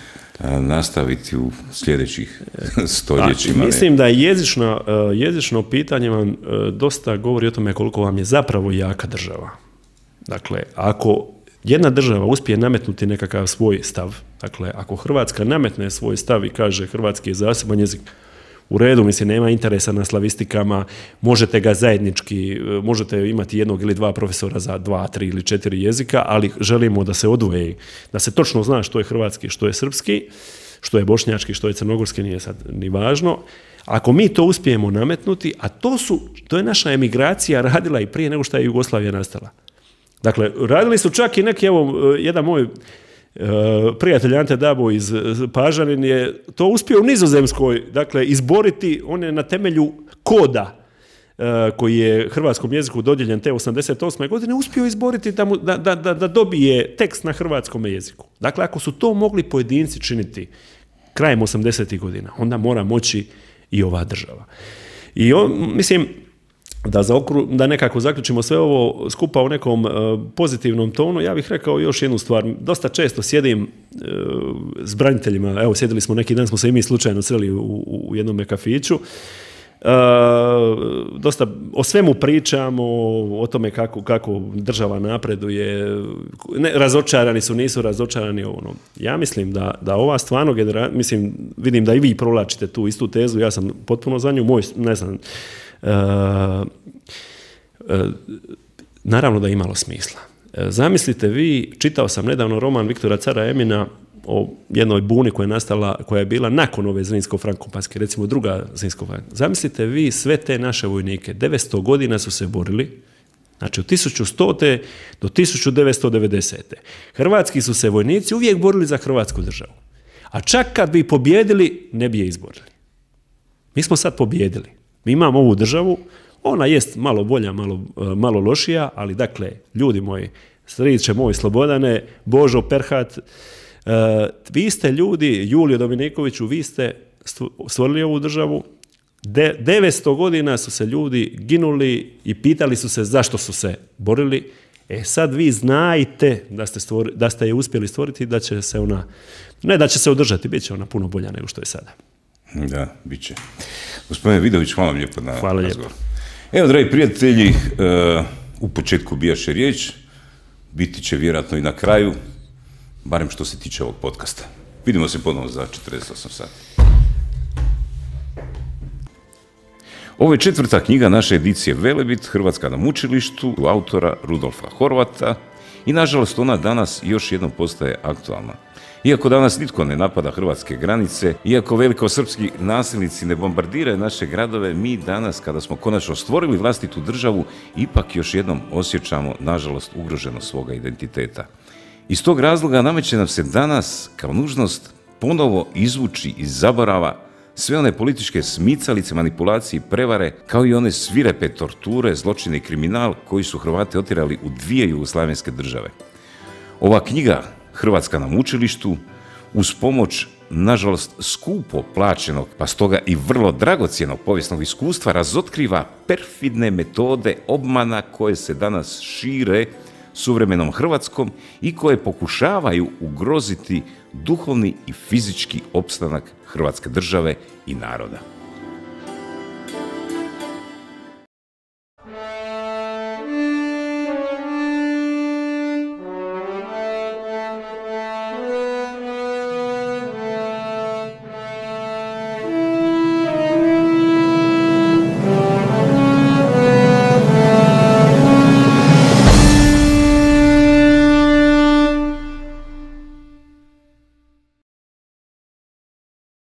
nastaviti u sljedećih stoljećima? A, mislim da je jezično, jezično pitanje vam dosta govori o tome koliko vam je zapravo jaka država. Dakle, ako jedna država uspije nametnuti nekakav svoj stav, dakle, ako Hrvatska nametne svoj stav i kaže hrvatski je zaseban jezik, u redu, mislim, nema interesa na slavistikama, možete ga zajednički, možete imati jednog ili dva profesora za dva, tri ili četiri jezika, ali želimo da se odvoje, da se točno zna što je hrvatski, što je srpski, što je bošnjački, što je crnogorski, nije sad ni važno. Ako mi to uspijemo nametnuti, a to su, to je naša emigracija radila i prije nego što je Jugoslavija nastala. Dakle, radili su čak i neki, evo, jedan moj Uh, prijatelj Ante Dabo iz Pažanin je to uspio u Nizozemskoj, dakle, izboriti, on je na temelju koda uh, koji je hrvatskom jeziku dodijeljen te osamdeset osme godine, uspio izboriti da, mu, da, da, da dobije tekst na hrvatskom jeziku. Dakle, ako su to mogli pojedinci činiti krajem osamdesetih godina, onda mora moći i ova država. I on, mislim, Da, zaokru, da nekako zaključimo sve ovo skupa u nekom uh, pozitivnom tonu, ja bih rekao još jednu stvar. Dosta često sjedim uh, s braniteljima, evo sjedili smo neki dan, smo se i mi slučajno sreli u, u jednom kafiću, uh, dosta o svemu pričamo, o tome kako, kako država napreduje, ne, razočarani su, nisu razočarani, ono. Ja mislim da, da ova stvarno generacija, mislim, vidim da i vi provlačite tu istu tezu, ja sam potpuno za nju, moj, ne znam, Uh, uh, naravno da je imalo smisla. Uh, zamislite vi, čitao sam nedavno roman Viktora Cara Emina o jednoj buni koja je nastala, koja je bila nakon ove Zrinsko-Frankopanske, recimo druga Zrinsko-Frankopanska. Zamislite vi sve te naše vojnike, devetsto godina su se borili, znači od tisuću stote do tisuću devetsto devedesete. Hrvatski su se vojnici uvijek borili za Hrvatsku državu. A čak kad bi pobjedili, ne bi je izborili. Mi smo sad pobjedili. Mi imamo ovu državu, ona jest malo bolja, malo, malo lošija, ali dakle, ljudi moji, striče moj Slobodane, Božo Perhat, uh, vi ste ljudi, Julio Dominikoviću, vi ste stvorili ovu državu, De, devetsto godina su se ljudi ginuli i pitali su se zašto su se borili. E sad vi znajte da ste, stvori, da ste je uspjeli stvoriti, da će se ona, ne da će se održati, bit će ona puno bolja nego što je sada. Da, bit će. Gospodine Vidović, hvala vam lijepo na hvala razgovor. Lijepo. Evo, dragi prijatelji, uh, u početku bijaše riječ, biti će vjerojatno i na kraju, barem što se tiče ovog podcasta. Vidimo se ponovno za četrdeset osam sati. Ovo je četvrta knjiga naše edicije Velebit, Hrvatska na mučilištu, autora Rudolfa Horvata i nažalost ona danas još jednom postaje aktualna. Iako danas nitko ne napada hrvatske granice, iako velikosrpski nasilnici ne bombardiraju naše gradove, mi danas, kada smo konačno stvorili vlastitu državu, ipak još jednom osjećamo, nažalost, ugroženost svoga identiteta. Iz tog razloga nameće nam se danas, kao nužnost, ponovo izvući iz zaborava sve one političke smicalice, manipulacije i prevare, kao i one svirepe torture, zločine i kriminal koji su Hrvate otjerali u dvije jugoslavenske države. Ova knjiga, Hrvatska na mučilištu, uz pomoć, nažalost, skupo plaćenog, pa stoga i vrlo dragocjenog povijesnog iskustva, razotkriva perfidne metode obmana koje se danas šire suvremenom Hrvatskom i koje pokušavaju ugroziti duhovni i fizički opstanak Hrvatske države i naroda.